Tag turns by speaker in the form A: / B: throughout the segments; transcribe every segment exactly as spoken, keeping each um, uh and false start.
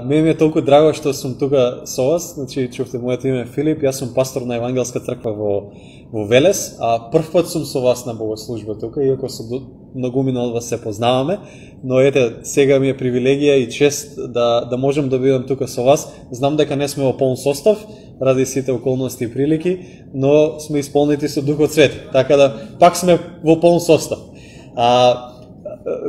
A: Мене ми е толку драго што сум тука со вас. Значи, чувте, моето име е Филип, јас сум пастор на Евангелска црква во, во Велес, а прв пат сум со вас на богослужба тука, иако со многумина од вас се познаваме, но ете, сега ми е привилегија и чест да, да можем да бидам тука со вас. Знам дека не сме во полн состав, ради сите околности и прилики, но сме исполнети со Духот Свети, така да пак сме во полн состав. А,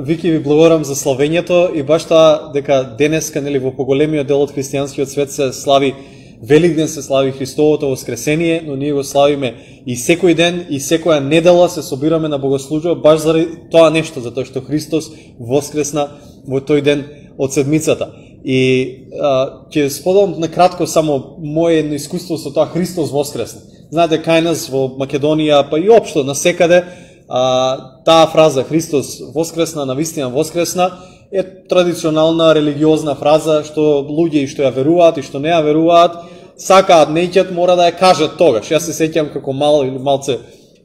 A: Вики, ви благодарам за славењето и баш тоа дека денеска, нели, во поголемиот дел од христијанскиот свет се слави Великден, се слави Христовото воскресение, но ние го славиме и секој ден и секоја недела се собираме на богослужба баш заради тоа нешто, затоа што Христос воскресна во тој ден од седмицата. И а, ќе споделам на кратко само моје едно искуство со тоа Христос воскресна. Знаете, кај нас во Македонија, па и општо насекаде, А, таа фраза Христос воскресна, навистина воскресна е традиционална религиозна фраза што луѓе и што ја веруваат и што не ја веруваат сакаат, неќат, мора да ја кажат тогаш. Јас се сеќам како мал или малце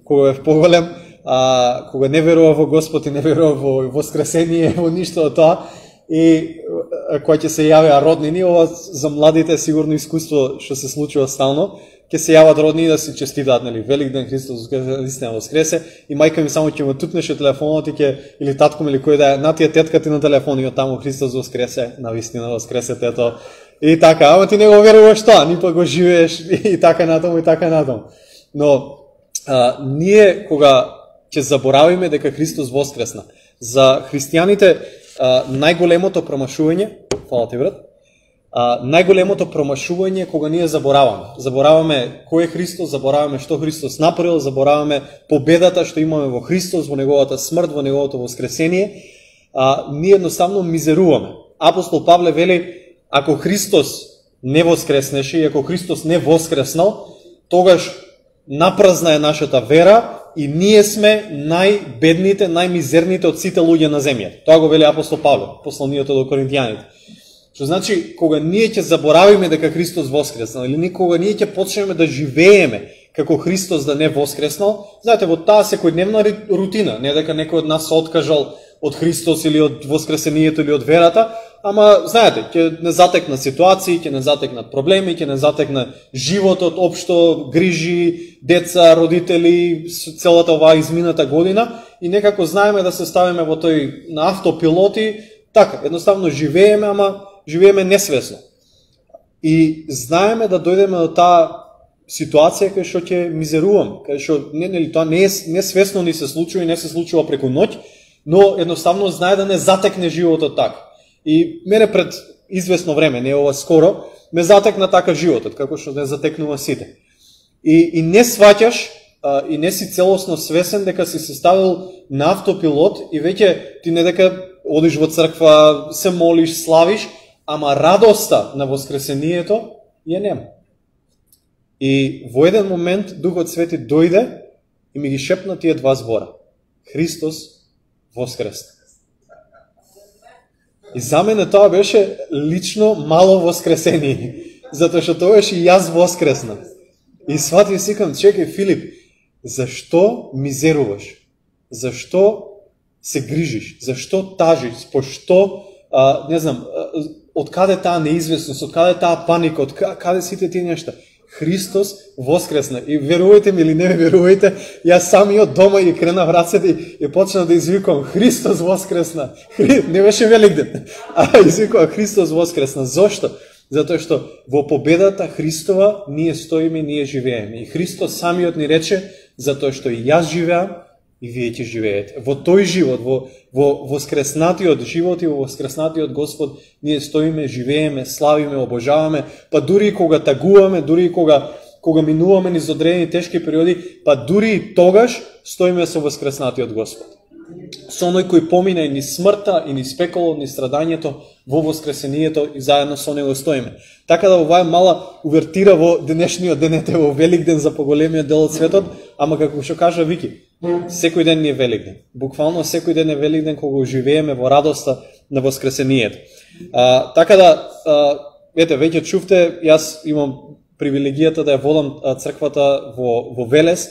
A: кога бев поголем, а, кога не верував во Господ и не верував во воскресение, во ништо од тоа, и кога ќе се јавеа роднини, ова за младите сигурно искуство што се случува стално, ќе се јават роднини да се честитаат, нели, Великден, Христос вистина воскресе, и мајка ми само ќе му тупнеше телефонот и ќе, или татко ми или кој да е, на тие тетка ти на телефон и од таму Христос воскресе, навистина воскресе тето. И така, ама ти не го веруваш тоа, ни па го живееш и така натаму и така натаму. Но а, ние кога ќе заборавиме дека Христос воскресна, за христијаните а, најголемото промашување, фала ти брат, А, најголемото промашување кога ние забораваме. Забораваме кој е Христос, забораваме што Христос направил, забораваме победата што имаме во Христос, во неговата смрт, во неговото воскресение. А, ние едноставно мизеруваме. Апостол Павле вели, ако Христос не воскреснеше и ако Христос не воскреснал, тогаш напразна е нашата вера и ние сме најбедните, најмизерните од сите луѓе на земјата. Тоа го вели апостол Павле, посланието до Коринтијаните. Што значи, кога ние ќе заборавиме дека Христос воскреснал, или кога ние ќе почнеме да живееме како Христос да не воскреснал, знаете, во таа секојдневна рутина, не дека некој од нас се откажал од Христос или од воскресението или од верата, ама, знаете, ќе не затекна ситуации, ќе не затекнат проблеми, ќе не затекна животот, општо, грижи, деца, родители, целата оваа измината година, и некако знаеме да се ставиме во тој на автопилоти, така, едноставно живееме, ама живееме несвесно. И знаеме да дојдеме до таа ситуација кај што ќе мизеруваме, кај што не, нели, тоа не е несвесно ни се случува и не се случува преку ноќ, но едноставно знае да не затекне животот така. И мене пред известно време, не ова скоро, ме затекна така животот, како што не затекнува сите. И, и не сваќаш, а, и не си целосно свесен дека си се ставил на автопилот и веќе ти не дека одиш во црква, се молиш, славиш, ама радоста на воскресението ја нема. И во еден момент Духот Свети дојде и ми ги шепна тие два збора. Христос воскресна. И за мене тоа беше лично мало воскресение, затоа што тоа беше и јас воскресна. И сватив сикам, чекај Филип, зашто мизеруваш? Зашто се грижиш? Зашто тажиш? Пошто, а, не знам, од каде таа неизвестност, од каде таа паника, од каде сите тие нешта? Христос воскресна. И верувајте ми или не верувајте, јас самиот дома ги кренав рацете и, и почнав да извикувам Христос воскресна. Хри... Не беше Великден, а извикувам Христос воскресна. Зошто? Затоа што во победата Христова ние стоиме, ние живееме. И Христос самиот ни рече, затоа што и јас живеам, и вие ќе живеете. Во тој живот, во, во воскреснатиот живот и во воскреснатиот Господ, ние стоиме, живееме, славиме, обожаваме, па дури кога тагуваме, дури кога, кога минуваме низ одредени тешки периоди, па дури и тогаш стоиме со воскреснатиот Господ. Со оној кој помина и низ смртта, и низ пеколот, низ страдањето, во воскресението и заедно со него стоиме. Така да ова е мала увертира во денешниот ден, ете во Великден за поголемиот дел од светот, ама како што кажа Вики, секој ден ни е Великден. Буквално секој ден е Великден кога живееме во радоста на воскресението. А, така да, а, ете, веќе чувте, јас имам привилегијата да ја водам црквата во, во Велес,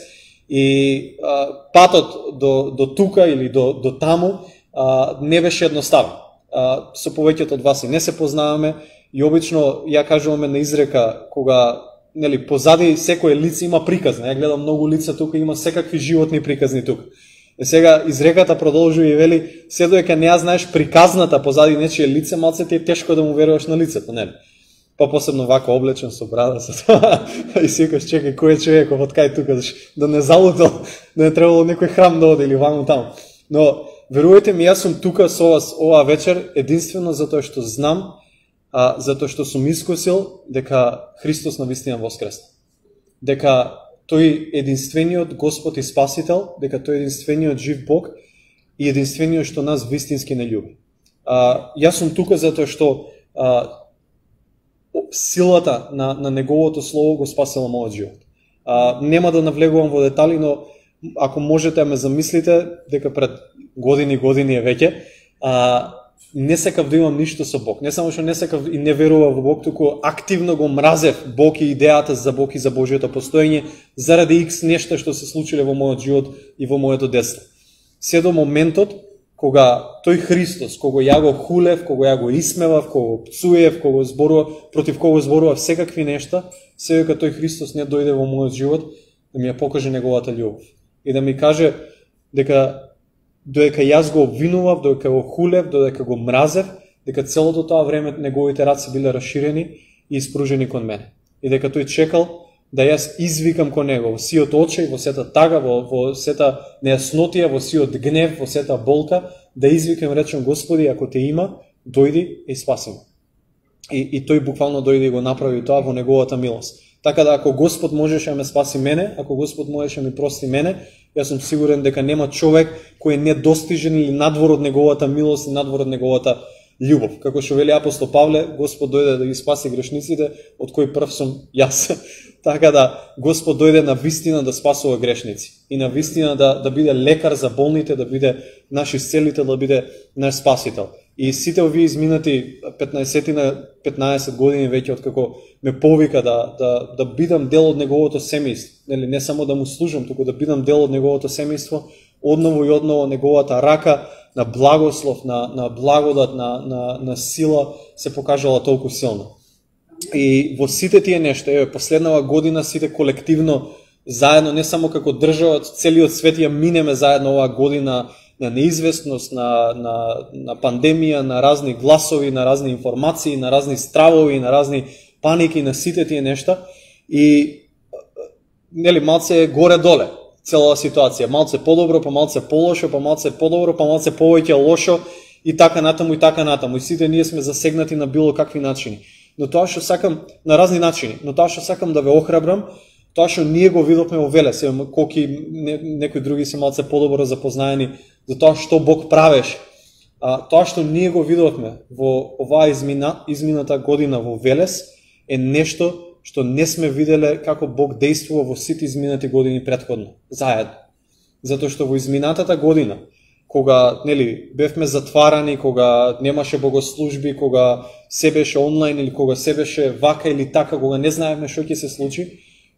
A: и а, патот до, до тука или до, до таму а, не беше едноставен. А, со повеќето од вас и не се познаваме, И обично ја кажуваме на изрека кога нели позади секое лице има приказна. Ја гледам многу лица тука, има секакви животни приказни тука. И сега изреката продолжува и вели, се додека не ја знаеш приказната позади нечие лице, малце ти е тешко да му веруваш на лицето, нели? Па посебно вака облечен со брада со тоа. И си викаш, чекај, кој е човеков од кај тука, да не залутал, да не требало некој храм да оди или ваму таму. Но верувајте ми, јас сум тука со вас оваа вечер единствено затоа што знам, а, затоа што сум искусил дека Христос навистина воскресна. Дека тој единствениот Господ и Спасител, дека тој единствениот жив Бог и единствениот што нас вистински не љуби. А, јас сум тука затоа што а, силата на, на Неговото Слово го спасила мојот живот. А, нема да навлегувам во детали, но ако можете ме замислите, дека пред години години е веќе, а, не сакав да имам ништо со Бог. Не само што не сакав и не верував во Бог, туку активно го мразев Бог и идејата за Бог и за Божиото постоење, заради икс нешта што се случиле во мојот живот и во моето детство. Се до моментот кога тој Христос, кога ја го хулев, кога ја го исмевав, кога го пцуев, кога зборував, против кога зборував секакви нешта, се дека тој Христос не дојде во мојот живот да ми ја покаже неговата љубов и да ми каже дека додека јас го обвинував, додека го хулев, додека го мразев, дека целото тоа време неговите раце биле расширени и испружени кон мене. И дека тој чекал да јас извикам кон него во сиот очај, во сета тага, во, во сета нејаснотија, во сиот гнев, во сета болка, да извикам, речем, Господи, ако те има, дојди и спаси ме. И, и тој буквално дојде и го направи тоа во неговата милост. Така да ако Господ можеше да ме спаси мене, ако Господ можеше да ми прости мене, јас сум сигурен дека нема човек кој е недостижен или надвор од неговата милост и надвор од неговата љубов. Како што вели апостол Павле, Господ дојде да ги спаси грешниците, од кој прв сум јас. Така да Господ дојде на вистина да спасува грешници и на вистина да, да биде лекар за болните, да биде наш исцелител, да биде наш спасител. И сите овие изминати петнаесет години веќе откако ме повика да, да, да бидам дел од неговото семејство, нели, не само да му служам, туку да бидам дел од неговото семејство, одново и одново неговата рака на благослов, на, на благодат, на, на, на сила се покажала толку силна. И во сите тие нешта, еве, последнава година сите колективно заедно, не само како држава, целиот свет ја минеме заедно оваа година на неизвестност, на, на, на пандемија, на разни гласови, на разни информации, на разни стравови, на разни паники, на сите тие нешта. И нели малце горе-доле цела ситуација, малце подобро, па малце полошо, па малце подобро, па малце повеќе лошо и така натаму и така натаму. И сите ние сме засегнати на било какви начини. Но тоа што сакам на разни начини, но тоа што сакам да ве охрабрам, тоа што ние го видовме во Велес, колки не, некои други се малце подобро запознаени за тоа што Бог правеше. А, тоа што ние го видовме во оваа измина, измината година во Велес е нешто што не сме виделе како Бог действува во сите изминати години претходно, заедно. Затоа што во изминатата година, кога нели бевме затварани, кога немаше богослужби, кога се беше онлайн или кога се беше вака или така, кога не знаевме што ќе се случи,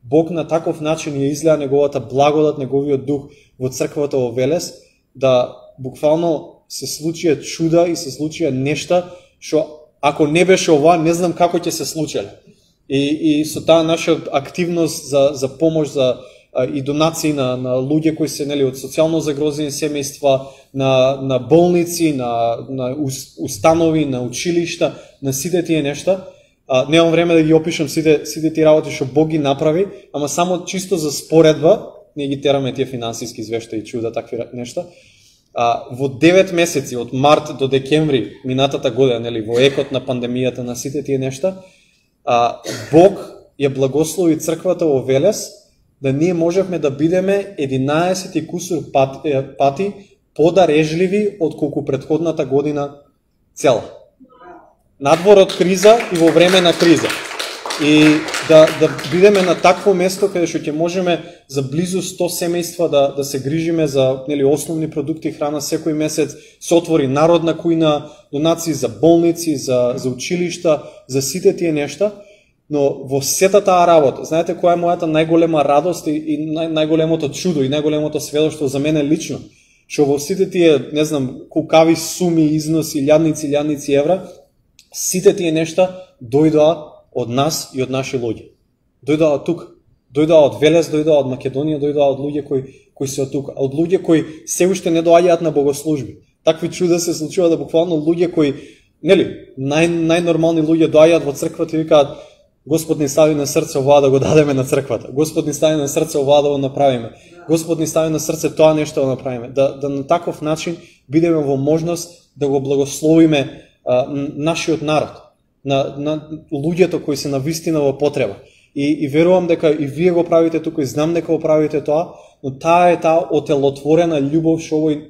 A: Бог на таков начин ја излеа неговата благодат, неговиот дух во црквата во Велес, да буквално се случија чуда и се случија нешта што ако не беше ова, не знам како ќе се случеле. И, и со таа наша активност за, за помош, за а, и донации на, на луѓе кои се нели од социјално загрозени семејства, на, на болници, на, на установи, на училишта, на сите тие нешта. А, немам време да ги опишам сите, сите тие работи што Бог ги направи, ама само чисто за споредба, ние ги тераме тие финансиски извештаи, чуда, такви нешта. А, во девет месеци, од март до декември минатата година, нели, во екот на пандемијата, на сите тие нешта, а, Бог ја благослови црквата во Велес, да ние можевме да бидеме единаесет и кусур пати, пати подарежливи од колку претходната година цела. Надвор од криза и во време на криза. И да, да бидеме на такво место каде што ќе можеме за близу сто семејства да, да се грижиме за нели, основни продукти и храна секој месец, се отвори народна кујна, донации за болници, за, за училишта, за сите тие нешта. Но во сета таа работа, знаете која е мојата најголема радост и, и нај, најголемото чудо и најголемото сведоштво за мене лично, што во сите тие, не знам, кукави суми, износи, илјадници, илјадници евра, сите тие нешта дојдоа од нас и од наши луѓе. Дојдоа од тука. Дојдоа од Велес, дојдоа од Македонија, дојдоа од луѓе кои кои се од тука, од луѓе кои се уште не доаѓаат на богослужби. Такви чуда се случува да буквално луѓе кои, нели, нај најнормални луѓе доаѓаат во црквата и викаат: Господ ни стави на срце ова да го дадеме на црквата. Господ ни стави на срце ова да го направиме. Господ ни стави на срце тоа нешто да направиме. Да, да на таков начин бидеме во можност да го благословиме а, нашиот народ, на, на луѓето кои се навистина во потреба. И, и верувам дека и вие го правите тука, и знам дека го правите тоа, но таа е таа отелотворена љубов што овој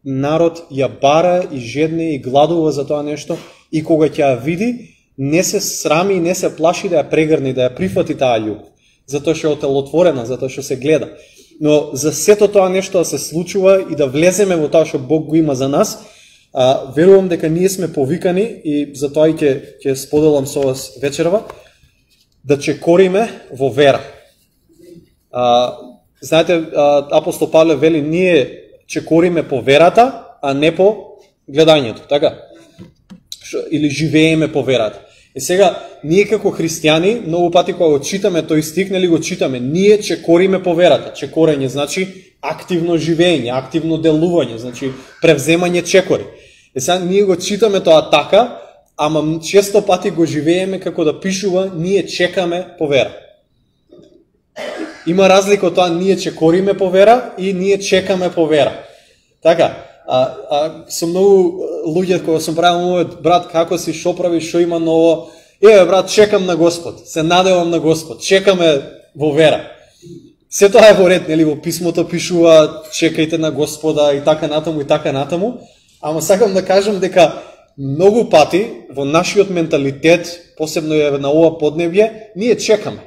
A: народ ја бара и жедне и гладува за тоа нешто, и кога ќе ја види, не се срами и не се плаши да ја прегрни, да ја прифати таа љубов, затоа што е отелотворена, затоа што се гледа. Но за сето тоа нешто да се случува и да влеземе во тоа што Бог го има за нас, а, верувам дека ние сме повикани, и затоа и ќе ќе споделам со вас вечерва, да чекориме во вера. А, знаете, а, апостол Павле вели: ние чекориме по верата, а не по гледањето, така? Шо, или живееме по верата. И сега, ние како христијани, многу пати кога го читаме тој стих, нели го читаме, ние чекориме по верата. Чекорење значи активно живење, активно делување, значи превземање чекори. И сега ние го читаме тоа така, ама често пати го живееме како да пишува: ние чекаме по вера. Има разлика од тоа ние чекориме по вера и ние чекаме по вера. Така, а, а со многу луѓе кога сум правил мојот: брат, како си, шо прави, шо има ново? Еве брат, чекам на Господ, се надевам на Господ, чекаме во вера. Се тоа е во ред, нели, во писмото пишува: чекајте на Господа и така натаму и така натаму, ама сакам да кажам дека многу пати во нашиот менталитет, посебно е на ова поднебје, ние чекаме.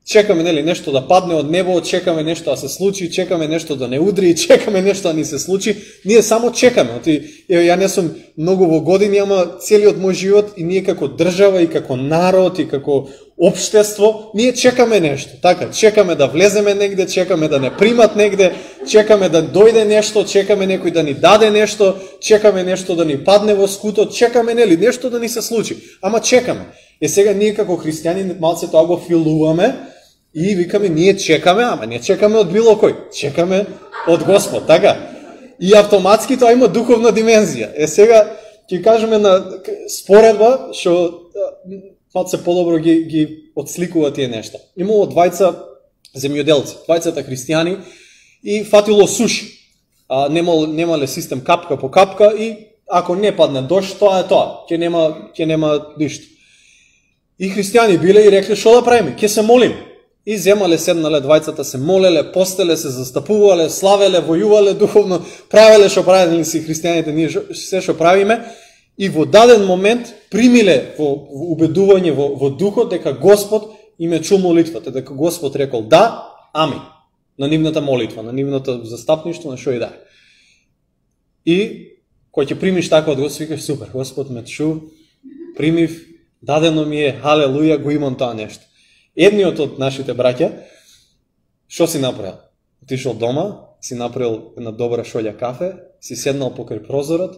A: Чекаме, нели, нешто да падне од небо, чекаме нешто да се случи, чекаме нешто да не удри, чекаме нешто да ни се случи. Ние само чекаме. Оти, еве, ја не сум многу во години, ама целиот мој живот, и ние како држава, и како народ, и како општество, ние чекаме нешто. Така, чекаме да влеземе негде, чекаме да не примат негде, чекаме да дојде нешто, чекаме некој да ни даде нешто, чекаме нешто да ни падне во скутот, чекаме, нели, нешто да ни се случи. Ама чекаме. И сега ние како христијани малце тоа го филуваме и викаме: ние чекаме, ама не чекаме од било кој, чекаме од Господ, така? И автоматски тоа има духовна димензија. Е сега ќе кажеме на споредба што малце подобро ги ги отсликува тие нешта. Имало двајца земјоделци, двајцата христијани, и фатило суши. А немал немале систем капка по капка, и ако не падне дожд, тоа е тоа. Ќе нема ќе нема ништо. И христијани биле и рекле: шо да правиме? Ќе се молиме. И земале, седнале двајцата, се молеле, постеле, се застапувале, славеле, војувале духовно, правеле што правеле си христијаните, ние се што правиме, и во даден момент примиле во, во убедување во, во духот дека Господ им е чул молитвата, дека Господ рекол да, амин, на нивната молитва, на нивното застапништво, на шо и да. И кој ќе примиш така од Господ, викаш: супер, Господ ме чу, примив, дадено ми е, халелуја, го имам тоа нешто. Едниот од нашите браќа, што си направил? Отишол дома, си направил една добра шолја кафе, си седнал покрај прозорот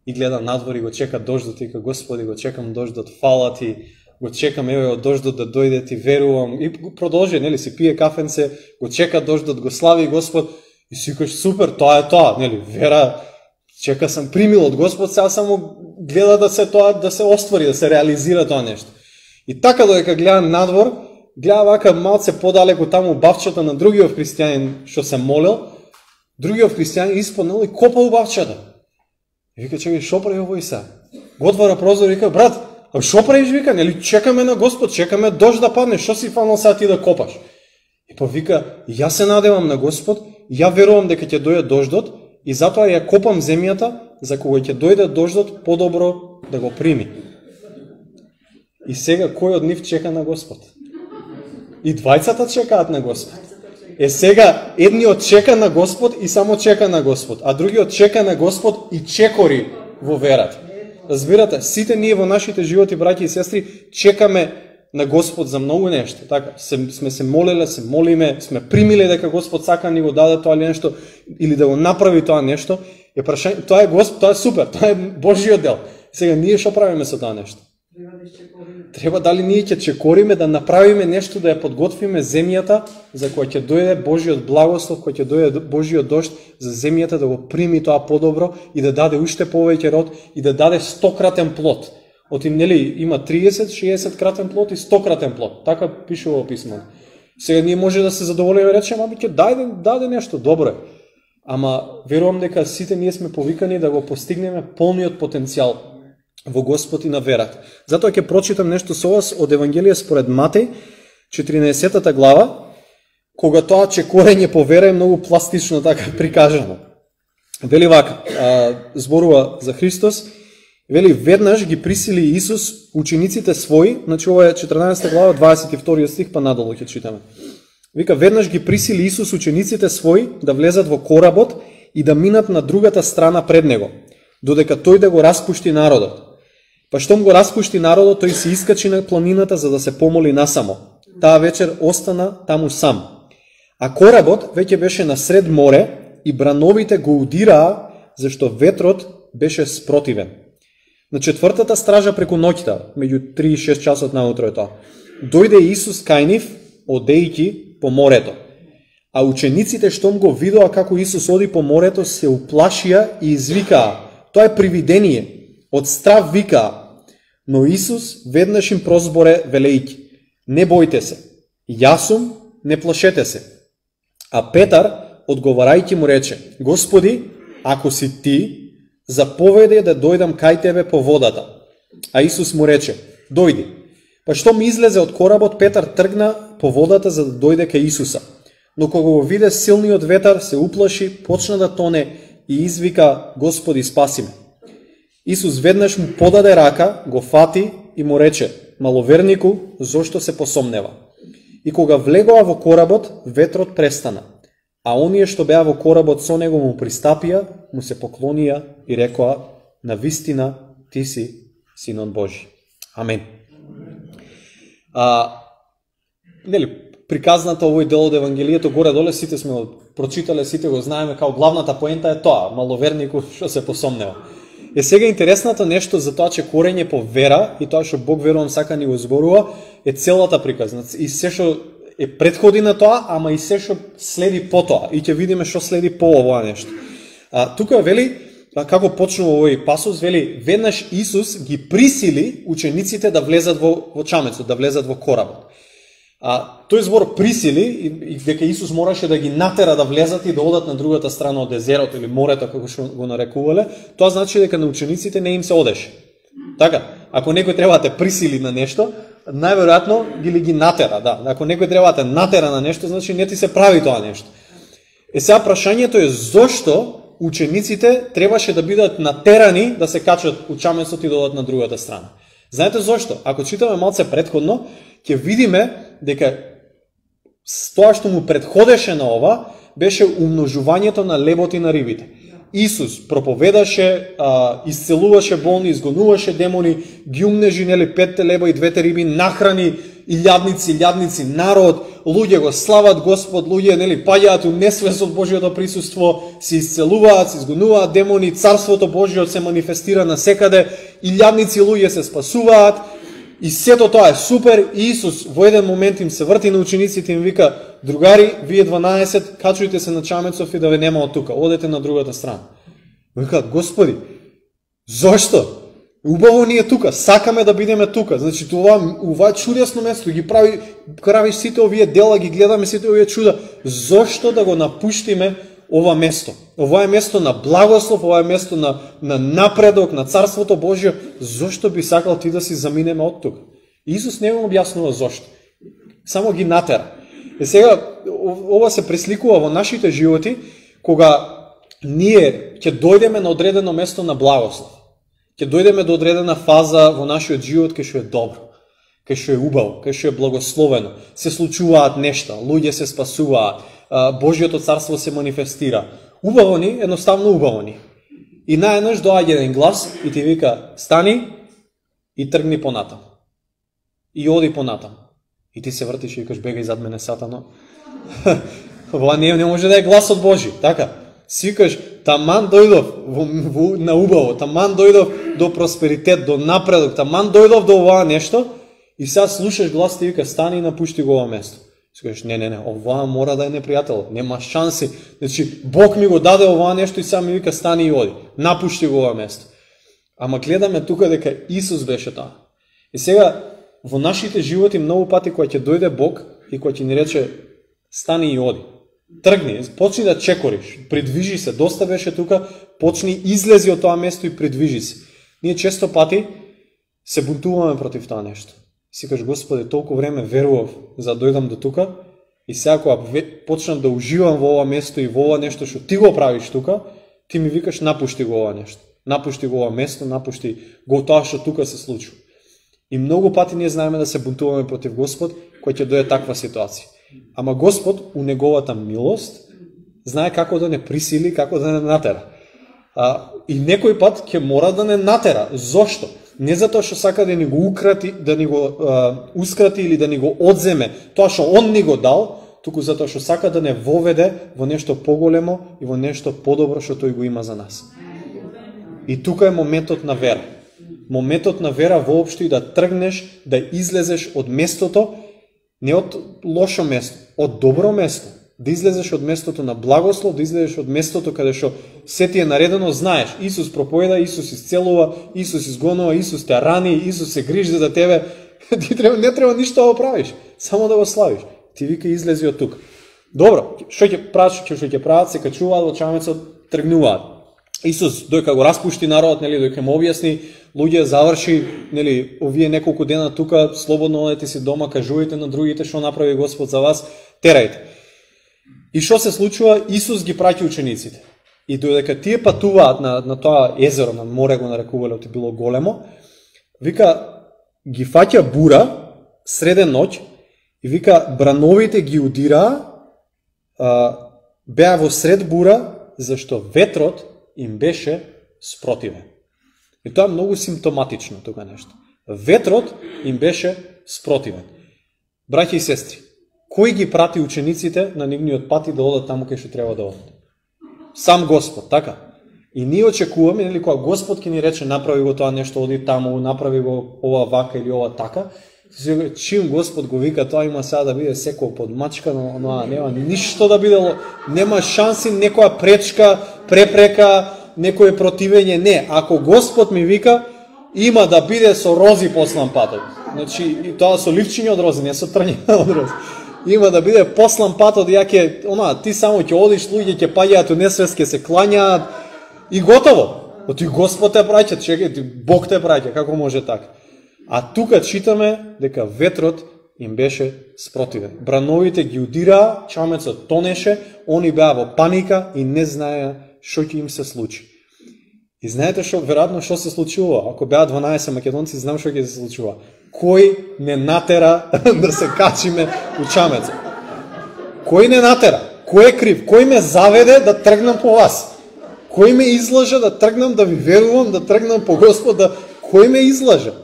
A: и гледа надвор и го чека дождот, и ка: Господи, го чекам дождот, фала ти, го чекам, еве, од дождот да дојде, ти верувам. И продолжи, нели, си пие кафенце, го чека дождот, го слави Господ, и си кажеш: супер, тоа е тоа, нели, вера, чека сам, примил од Господ, сега само гледа да се тоа, да се оствари, да се реализира тоа нешто. И така додека гледа надвор, гледа вака малце подалеку таму бавчата на другиот христијанин што се молел, другиот христијанин испаднал и копал бавчата. И вика: чекај, шо прави овој сега? Го отвара прозор и вика: брат, а шо правиш, вика, нели чекаме на Господ, чекаме дожд да падне, што си фанал сега ти да копаш? И па вика: јас се надевам на Господ, ја верувам дека ќе дојде дождот, и затоа ја копам земјата, за кога ќе дојде дождот, подобро да го прими. И сега кој од нив чека на Господ? И двајцата чекаат на Господ. Е сега, едниот чека на Господ и само чека на Господ, а другиот чека на Господ и чекори во верата. Разбирате, сите ние во нашите животи, браќи и сестри, чекаме на Господ за многу нешто. Така, се, сме се молеле, се молиме, сме примиле дека Господ сака да ни го даде тоа или нешто, или да го направи тоа нешто. Е прашање, тоа е Господ, тоа е супер, тоа е Божјиот дел. Сега ние што правиме со тоа нешто? Треба дали ние ќе чекориме да направиме нешто, да ја подготвиме земјата за која ќе дојде Божиот благослов, која ќе дојде Божиот дожд за земјата да го прими тоа подобро и да даде уште повеќе род и да даде стократен плод. Оти нели има триесет шеесет кратен плод и стократен плод. Така пише во писмото. Сега ние може да се задоволиме и речеме, ама ќе даде даде нешто добро. Ама верувам дека сите ние сме повикани да го постигнеме полниот потенцијал во Господ и на верата. Затоа ќе прочитам нешто со вас од Евангелие според Матеј, четиринаесеттата глава, кога тоа чекорење по вера е многу пластично така прикажано. Вели вака, а, зборува за Христос, вели веднаш ги присили Исус учениците своји, значи ова е четрнаесетта глава, дваесет и втори стих, па надолу ќе читаме. Вика, веднаш ги присили Исус учениците своји да влезат во коработ и да минат на другата страна пред него, додека тој да го распушти народот. Па штом го распушти народот, тој се искачи на планината за да се помоли насамо. Таа вечер остана таму сам. А коработ веќе беше насред море и брановите го удираа, зашто ветрот беше спротивен. На четвртата стража преку ноќта, меѓу три и шест часот наутро е тоа, дојде Исус кај нив, одејќи по морето. А учениците штом го видоа како Исус оди по морето, се уплашија и извикаа. Тоа е привидение. Од страв викаа. Но Исус веднаш им прозборе велејќи: не бојте се. Јас сум, не плашете се. А Петар, одговарајќи му рече: Господи, ако си ти, заповеди да дојдам кај тебе по водата. А Исус му рече: дојди. Па штом излезе од коработ, Петар тргна по водата за да дојде кај Исуса. Но кога го виде силниот ветар, се уплаши, почна да тоне и извика: Господи, спаси ме. Исус веднаш му подаде рака, го фати и му рече: маловернику, зошто се посомнева? И кога влегоа во коработ, ветрот престана. А оние што беа во коработ со него му пристапија, му се поклонија и рекоа: навистина ти си Синот Божи. Амен. А, нели, приказната овој дел од Евангелието горе-доле сите сме го прочитале, сите го знаеме, као главната поента е тоа: маловернику што се посомнева. Е сега интересното нешто за тоа че корење по вера и тоа што Бог верувам сака ни го зборува е целата приказна. И се што е претходи на тоа, ама и се што следи по тоа. И ќе видиме што следи по ова нешто. А, тука вели, како почнува овој пасус, вели, веднаш Исус ги присили учениците да влезат во, во чамецот, да влезат во коработ. А, тој збор присили, и, и дека Исус мораше да ги натера да влезат и да одат на другата страна од езерото или морето, како што го нарекувале, тоа значи дека на учениците не им се одеше. Така, ако некој треба да те присили на нешто, најверојатно ги ли ги натера, да. Ако некој треба да те натера на нешто, значи не ти се прави тоа нешто. Е сега прашањето е зошто учениците требаше да бидат натерани да се качат у чамецот и да одат на другата страна. Знаете зошто? Ако читаме малце предходно, ќе видиме дека тоа што му предходеше на ова беше умножувањето на лебот и на рибите. Исус проповедаше, а, исцелуваше болни, изгонуваше демони, ги умнежи нели петте леба и двете риби, нахрани илјадници, илјадници народ, луѓе го слават Господ, луѓе нели паѓаат у несвест од Божјото присуство, се исцелуваат, се изгонуваат демони, царството Божјо се манифестира насекаде, илјадници луѓе се спасуваат. И сето тоа е супер. И Исус во еден момент им се врти на учениците и им вика: другари, вие дванаесет, качујте се на чамецов и да ве нема од тука, одете на другата страна. Викаат: Господи, зошто? Убаво ни е тука, сакаме да бидеме тука. Значи това, ова е чудесно место, ги прави, правиш сите овие дела, ги гледаме сите овие чуда. Зошто да го напуштиме ова место? Ова е место на благослов, ова е место на, на напредок, на Царството Божјо. Зошто би сакал ти да си заминеме од тука? Исус не го објаснува зошто. Само ги натера. И сега, ова се пресликува во нашите животи, кога ние ќе дојдеме на одредено место на благослов. Ќе дојдеме до одредена фаза во нашиот живот кај што е добро, кај што е убаво, кај што е благословено. Се случуваат нешта, луѓе се спасуваат, Божјото царство се манифестира. Убаво ни, едноставно убаво ни. И наеднаш доаѓа еден глас и ти вика: стани и тргни понатам. И оди понатам. И ти се вртиш и викаш: бегај зад мене, сатано. Ова не, не може да е гласот Божи, така? Си викаш, таман дојдов во, во, на убаво, таман дојдов до просперитет, до напредок, таман дојдов до ова нешто, и сега слушаш глас ти вика, стани и напушти го ова место. Си кажеш, не, не, не, ова мора да е непријател, нема шанси. Значи, Бог ми го даде ова нешто и сега ми вика, стани и оди, напушти го ова место. Ама гледаме тука дека Исус беше тоа. И сега, во нашите животи многу пати кога ќе дојде Бог и кога ќе ни рече, стани и оди. Тргни, почни да чекориш, придвижи се, доста беше тука, почни, излези од тоа место и придвижи се. Ние често пати се бунтуваме против тоа нешто. Си кажеш, Господи, толку време верував за да дојдам до тука и сега кога почнам да уживам во ова место и во ова нешто што ти го правиш тука, ти ми викаш, напушти го ова нешто. Напушти го ова место, напушти го тоа што тука се случува. И многу пати ние знаеме да се бунтуваме против Господ кој ќе дојде таква ситуација. Ама Господ, у неговата милост, знае како да не присили, како да не натера. А, и некој пат ќе мора да не натера. Зошто? Не затоа што сака да ни го украти, да ни го а, ускрати или да ни го одземе тоа што он ни го дал, туку затоа што сака да не воведе во нешто поголемо и во нешто подобро што тој го има за нас. И тука е моментот на вера. Моментот на вера воопшто и да тргнеш, да излезеш од местото, не од лошо место, од добро место. Да излезеш од местото на благослов, да излезеш од местото каде што се ти е наредено, знаеш, Исус проповеда, Исус исцелува, Исус изгонува, Исус те рани, Исус се грижи за тебе. Ти треба, не треба ништо да го правиш, само да го славиш. Ти вика излези од тука. Добро, што ќе прават, што ќе прават, се качуваат во чамецот, тргнуваат. Исус дојка го распушти народот, нели, дојка му објасни, луѓе заврши, нели, овие неколку дена тука, слободно одете си дома, кажувајте на другите што направи Господ за вас, терајте. И што се случува? Исус ги праќа учениците. И додека тие патуваат на, на тоа езеро, на море го нарекувале, оти било големо, вика, ги фаќа бура, среден ноќ, и вика, брановите ги удираа, а, беа во сред бура, зашто ветрот им беше спротивен. И тоа е многу симптоматично тука нешто. Ветрот им беше спротивен. Браќи и сестри, кој ги прати учениците на нивниот пат и да одат таму кај што треба да одат? Сам Господ, така? И ние очекуваме, нели, кога Господ ќе ни рече направи го тоа нешто, оди таму, направи го ова вака или ова така, чим Господ го вика, тоа има сега да биде секој подмачкано, но нема ништо да биде, нема шанси, некоја пречка, препрека, некое противење, не. Ако Господ ми вика, има да биде со рози послан патот. Значи, и тоа со ливчиња од рози, не со трња од рози. Има да биде послан патот, ја ќе, она, ти само ќе одиш, луѓе ќе паѓаат у несвест, ќе се клањаат и готово. Оти Господ те праќа, чекај, Бог те праќа, како може така? А тука читаме дека ветрот им беше спротивен. Брановите ги удираа, чамецот тонеше, они беа во паника и не знаеа што ќе им се случи. И знаете што, веројатно што се случува? Ако беа дванаесет македонци, знам што ќе се случува. Кој не натера да се качиме у чамецот? Кој не натера? Кој е крив? Кој ме заведе да тргнам по вас? Кој ме излажа да тргнам да ви верувам, да тргнам по Господ, да... Кој ме излажа?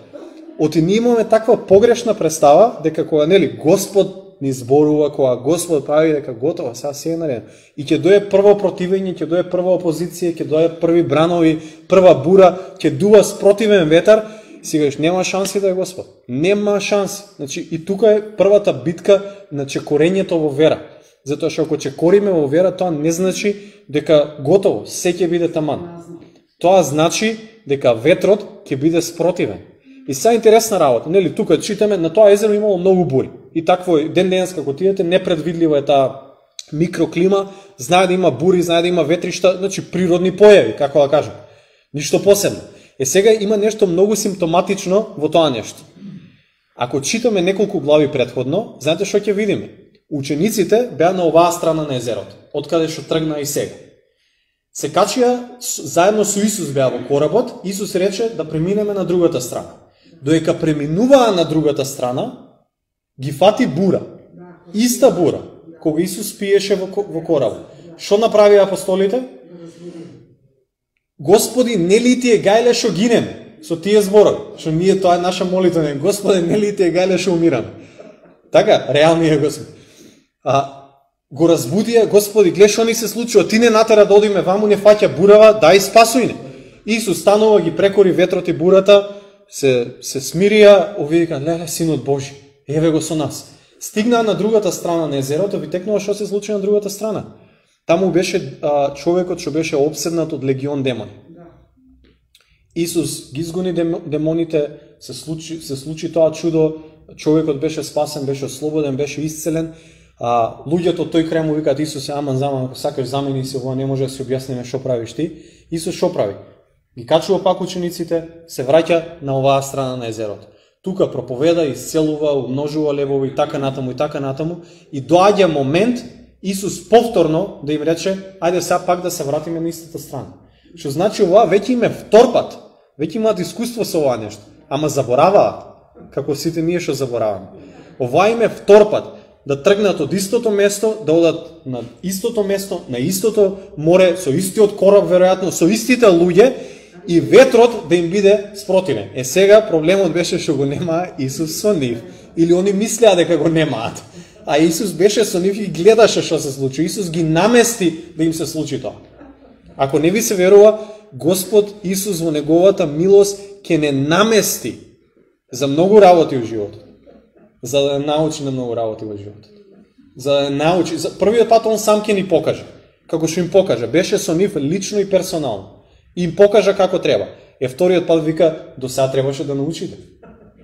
A: Оти ние имаме таква погрешна представа дека кога, нели, Господ ни зборува, кога Господ прави дека готово, сега се е наредно. И ќе дое прво противење, ќе дое прва опозиција, ќе дое први бранови, прва бура, ќе дува спротивен ветар, сега нема шанси да е Господ. Нема шанси. Значи и тука е првата битка на чекорењето во вера. Затоа што ако чекориме во вера, тоа не значи дека готово, се ќе биде таман. Тоа значи дека ветрот ќе биде спротивен. И са интересна работа, нели, тука читаме, на тоа езеро имало многу бури. И такво ден денес како тиете, непредвидлива е таа микроклима, знае да има бури, знае да има ветришта, значи природни појави, како да кажем. Ништо посебно. Е сега има нешто многу симптоматично во тоа нешто. Ако читаме неколку глави предходно, знаете што ќе видиме? Учениците беа на оваа страна на езерото, откаде што тргна и сега. Се качија, заедно со Исус беа во коработ, Исус рече да преминеме на другата страна. Доека преминуваа на другата страна, ги фати бура. Иста бура, кога Исус пиеше во, во коработ. Што направи апостолите? Господи, нели ти е гајле што гинеме? Со тие зборови, што ние, тоа е наша молитва, не, Господи, нели ти е гајле што умираме? Така, реалниот Господ. А го разбудија, Господи, гледа што ни се случува, ти не натера да одиме ваму, не фаќа бурава, дај спасуј не. Исус станува, ги прекори ветрот и бурата, се, се смирија, овие леле, Синот Божи, еве го со нас. Стигнаа на другата страна на езерото, ви текнува што се случи на другата страна. Таму беше а, човекот што беше обседнат од легион демони. Исус ги изгони демоните, се случи, се случи тоа чудо, човекот беше спасен, беше слободен, беше исцелен. А, луѓето од тој крај му викаат: Исусе, аман заман, ако сакаш замени се, ова не може да се објасниме што правиш ти. Исус што прави? Ги качува пак учениците, се враќа на оваа страна на езерото. Тука проповеда, исцелува, умножува левови, така натаму и така натаму, и доаѓа момент Исус повторно да им рече: ајде сега пак да се вратиме на истата страна. Што значи ова веќе им е втор пат, веќе имаат искуство со ова нешто, ама забораваат, како сите ние што забораваме. Ова им е втор пат, да тргнат од истото место, да одат на истото место, на истото море, со истиот кораб веројатно, со истите луѓе, и ветрот да им биде спротивен. Е сега проблемот беше што го нема Исус со нив, или они мислеа дека го немаат. А Исус беше со нив и гледаше што се случи. Исус ги намести да им се случи тоа. Ако не ви се верува, Господ Исус во неговата милост ќе не намести за многу работи во животот. За да научи на многу работи во животот. За да научи, за првиот пат он сам ќе ни покаже. Како што им покажа, беше со нив лично и персонално. И им покажа како треба. Е вториот пат вика: до сега требаше да научите.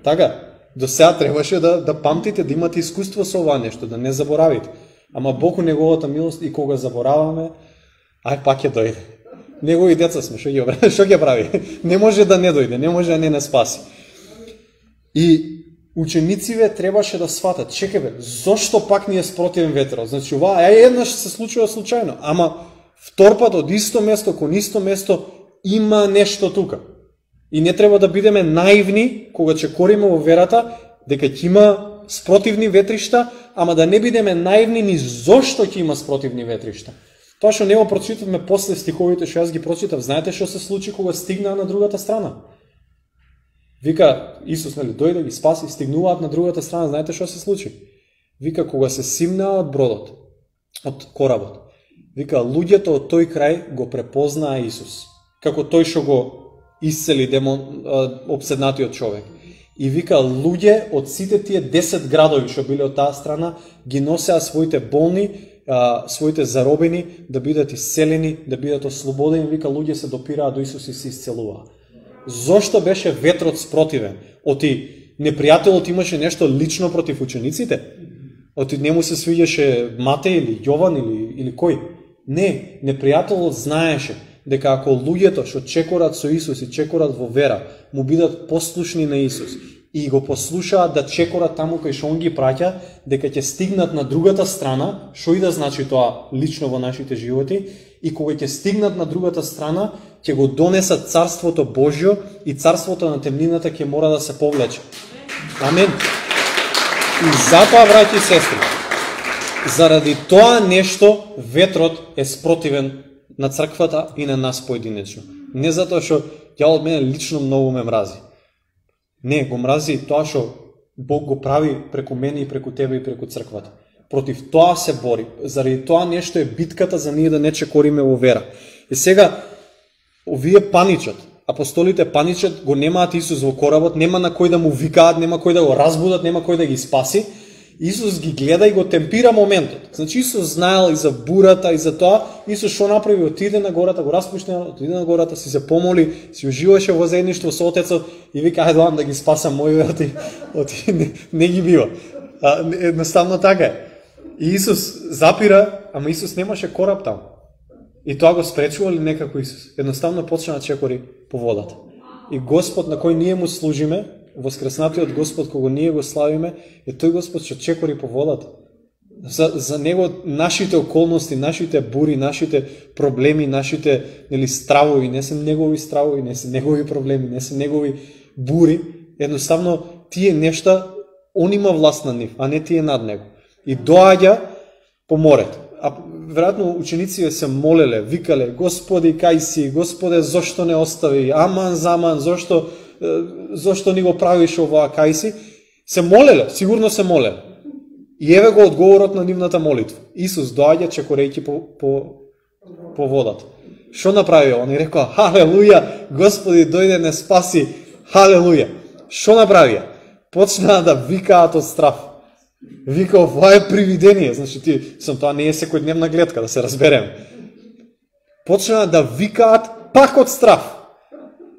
A: Така, до сега требаше да да памтите, да имате искуство со ова нешто, да не заборавите. Ама Бог у неговата милост, и кога забораваме, ај пак ќе дојде. Негови деца сме, што ги обра... што ќе прави? Не може да не дојде, не може да не не спаси. И ученициве требаше да сватат: чекај бе, зошто пак ни е спротивен ветерот? Значи ова е еднаш се случува случајно, ама втор пат од исто место кон исто место има нешто тука. И не треба да бидеме наивни кога чекориме во верата дека ќе има спротивни ветришта, ама да не бидеме наивни ни зошто ќе има спротивни ветришта. Тоа што нема прочитавме после стиховите што јас ги прочитав, знаете што се случи кога стигнаа на другата страна? Вика Исус, нели, дојде, ги спаси, стигнуваат на другата страна, знаете што се случи? Вика кога се симнаа од бродот, од коработ. Вика луѓето од тој крај го препознаа Исус, како тој што го исцели демон, обседнатиот човек. И вика луѓе од сите тие десет градови што биле од таа страна ги носеа своите болни, а, своите заробени да бидат исцелени, да бидат ослободени. Вика луѓе се допираа до Исус и се исцелуваа. Зошто беше ветрот спротивен? Оти непријателот имаше нешто лично против учениците? Оти не му се свиѓаше Матеј или Јован или, или кој? Не, непријателот знаеше дека ако луѓето што чекорат со Исус и чекорат во вера, му бидат послушни на Исус и го послушаат да чекорат таму кај што он ги праќа, дека ќе стигнат на другата страна, што и да значи тоа лично во нашите животи, и кога ќе стигнат на другата страна, ќе го донесат Царството Божјо и Царството на темнината ќе мора да се повлече. Амен. И затоа, браќи и сестри, заради тоа нешто ветрот е спротивен на црквата и на нас поединечно. Не затоа што ѓаволот мене лично многу ме мрази. Не, го мрази тоа што Бог го прави преку мене и преку тебе и преку црквата. Против тоа се бори. Заради тоа нешто е битката за ние да не чекориме во вера. И сега, овие паничат, апостолите паничат, го немаат Исус во коработ, нема на кој да му викаат, нема кој да го разбудат, нема кој да ги спаси. Исус ги гледа и го темпира моментот. Значи Исус знаел и за бурата и за тоа. Исус што направи? Отиде на гората, го распушти, отиде на гората, си се помоли, си уживаше во заедништво со Отецот и вика: ајде доам да ги спасам мои оти, оти не, не ги бива. А, едноставно така е. И Исус запира, ама Исус немаше кораб таму. И тоа го спречува ли некако Исус? Едноставно почна да чекори по водата. И Господ на кој ние му служиме, воскреснатиот Господ кога ние го славиме, е тој Господ што чекори по водата. За, за него нашите околности, нашите бури, нашите проблеми, нашите нели стравови, не се негови стравови, не се негови проблеми, не се негови бури, едноставно тие нешта он има власт над нив, а не тие над него. И доаѓа по морето. А веројатно учениците се молеле, викале: Господи, кај си? Господе, зошто не остави? Аман, заман, зошто зошто ни го правиш ова, кај си? Се молеле, сигурно се молеле. И еве го одговорот на нивната молитва. Исус доаѓа чекорејќи по, по, по водата. Што направи? Он и рекоа, халелуја, Господи, дојде не спаси, халелуја. Што направи? Почнаа да викаат од страв. Вика, ова е привидение. Значи, ти, сам, тоа не е секојдневна гледка, да се разберем. Почнаа да викаат пак од страв.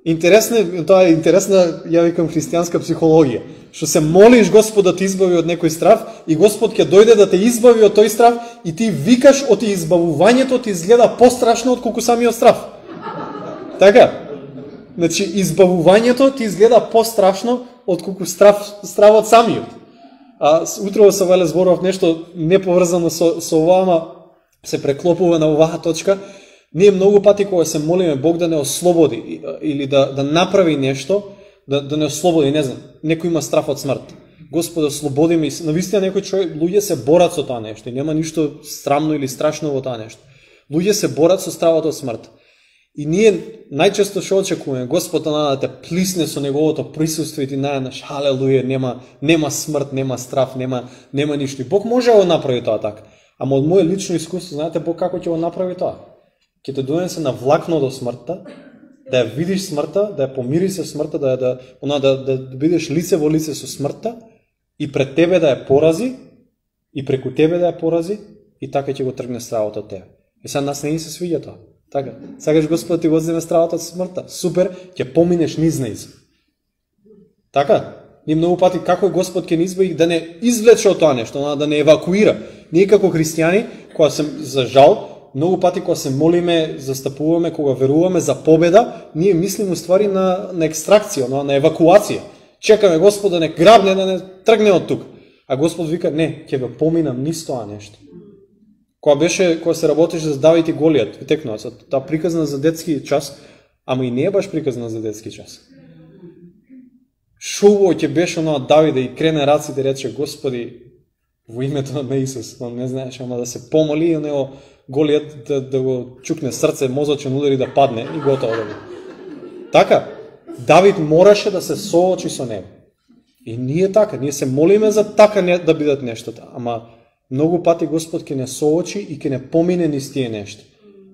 A: Интересно, тоа е интересна, ја викам, христијанска психологија. Што се молиш Господ да те избави од некој страв и Господ ќе дојде да те избави од тој страв и ти викаш од избавувањето ти изгледа пострашно од колку самиот страв. Така? Значи, избавувањето ти изгледа пострашно од колку страв, стравот самиот. А утрово се веле зборов нешто неповрзано со, со оваа, се преклопува на оваа точка. Ние многу пати кога се молиме Бог да не ослободи или да, да направи нешто, да, да не ослободи, не знам, некој има страф од смрт. Господи, ослободи ме. Навистина некој човек, луѓе се борат со тоа нешто и нема ништо срамно или страшно во тоа нешто. Луѓе се борат со стравот од смрт. И ние најчесто што очекуваме, Господ да те плисне со неговото присуство и ти најнаш, халелуја, нема нема смрт, нема страф, нема нема ништо. И Бог може да го направи тоа така. Ама од мое лично искуство, знаете Бог како ќе го направи тоа? Ќе те донесе на влакно до смртта, да ја видиш смртта, да ја помири се смртта, да да она да, да, да бидеш лице во лице со смртта и пред тебе да ја порази и преку тебе да ја порази и така ќе го тргне стравот од тебе. И сега нас не ни се свиѓа тоа. Така, сакаш Господ ти го земе стравот од смртта. Супер, ќе поминеш низ неиз. Така? Ние многу пати како Господ ќе ни избави да не извлече од тоа нешто, да не евакуира. Ние како христијани, кога се за жал, многу пати кога се молиме, застапуваме, кога веруваме за победа, ние мислиме уствари на, на екстракција, на, на евакуација. Чекаме Господ да не грабне, да не тргне од тук. А Господ вика, не, ќе ве поминам низ тоа нешто. Кога беше, кога се работеше за Давид и Голијат, текнува се, таа приказна за детски час, ама и не е баш приказна за детски час. Шубо ќе беше на Давид и крене раците и рече, Господи, во името на Исус, он не знаеш, ама да се помоли и него Голијат да, да го чукне срце, мозочен удар и да падне и готово да го. Така, Давид мораше да се соочи со него. И ние така, ние се молиме за така не, да бидат нештата, ама многу пати Господ ќе не соочи и ќе не помине низ тие нешта.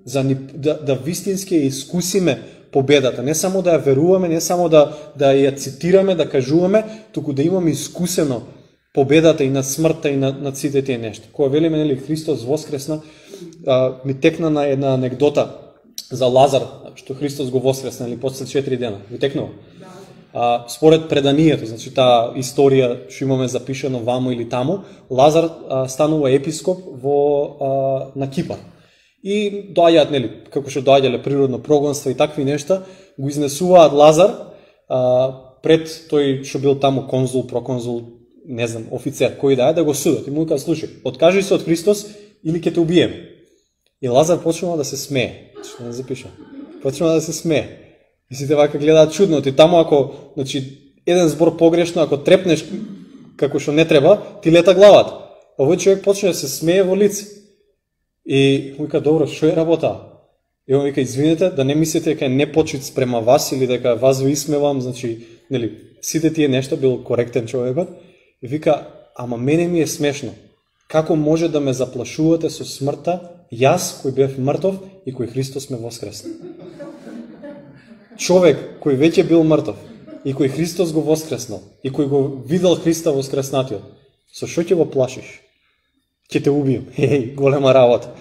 A: За ни, да, да вистински ја искусиме победата, не само да ја веруваме, не само да, да ја цитираме, да кажуваме, туку да имаме искусено победата и над смртта и над, над сите тие нешта. Кога велиме, нели, Христос воскресна, а, ми текна на една анекдота за Лазар, што Христос го воскресна, или после четири дена. Ви текнува? А, според преданието, значи таа историја што имаме запишено ваму или таму, Лазар а, станува епископ во а, на Кипар. И доаѓаат, нели, како што доаѓале природно прогонство и такви нешта, го изнесуваат Лазар а, пред тој што бил таму конзул, проконзул, не знам, офицер, кој да е, да го судат. И му кажа, слушај, откажи се од Христос или ќе те убиеме. И Лазар почнува да се смее. Што не запишам. Почнува да се смее. И сите вака гледаат чудно. Ти таму ако, значи, еден збор погрешно, ако трепнеш како што не треба, ти лета главата. Овој човек почне да се смее во лице. И му вика, добро, што е работа? И он вика, извинете, да не мислите дека е непочит спрема вас или дека вас ви исмевам, значи, нели, сите тие нешта, бил коректен човекот. И вика, ама мене ми е смешно. Како може да ме заплашувате со смртта, јас кој бев мртов и кој Христос ме воскресна? Човек кој веќе бил мртов и кој Христос го воскреснал и кој го видел Христа воскреснатиот, со што ќе го плашиш? Ќе те убием. Еј, голема работа.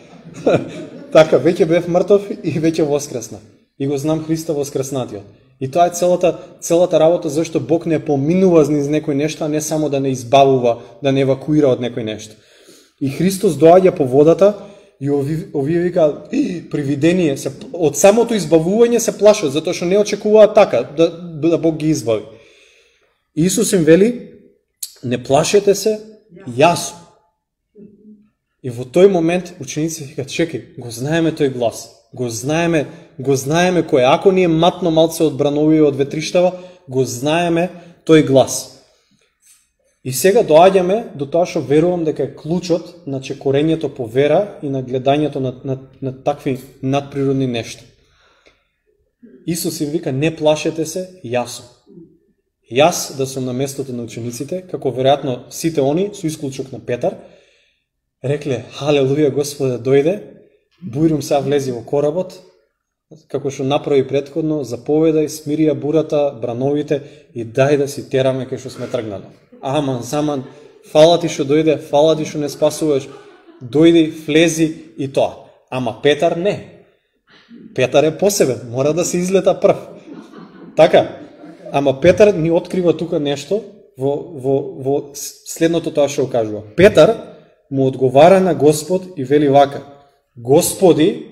A: Така, веќе бев мртов и веќе воскресна. И го знам Христа воскреснатиот. И тоа е целата, целата работа зашто Бог не поминува низ некој нешто, а не само да не избавува, да не евакуира од некој нешто. И Христос доаѓа по водата и овие, овие вика привидение, се, од самото избавување се плашат, затоа што не очекуваат така, да, да Бог ги избави. Исус им вели, не плашете се, јас. И во тој момент учениците викаат, чекај, го знаеме тој глас. Го знаеме, го знаеме кој, ако ние матно малце одбранови од ветриштава, го знаеме тој глас. И сега доаѓаме до тоа што верувам дека е клучот на чекорењето по вера и на гледањето на, на, на такви надприродни нешта. Исус им вика, не плашете се, јас сум. Јас да сум на местото на учениците, како веројатно сите они, со исклучок на Петар, рекле, халелуја, Господе, дојде, бујрум сега влези во коработ, како што направи претходно, заповедај, смирија бурата, брановите и дај да си тераме кај што сме тргнали. Аман, заман, фала ти што дојде, фала ти што не спасуваш, дојди, влези и тоа. Ама Петар не. Петар е посебен, мора да се излета прв. Така, ама Петар ни открива тука нешто во, во, во следното тоа што кажува. Петар му одговара на Господ и вели вака, Господи,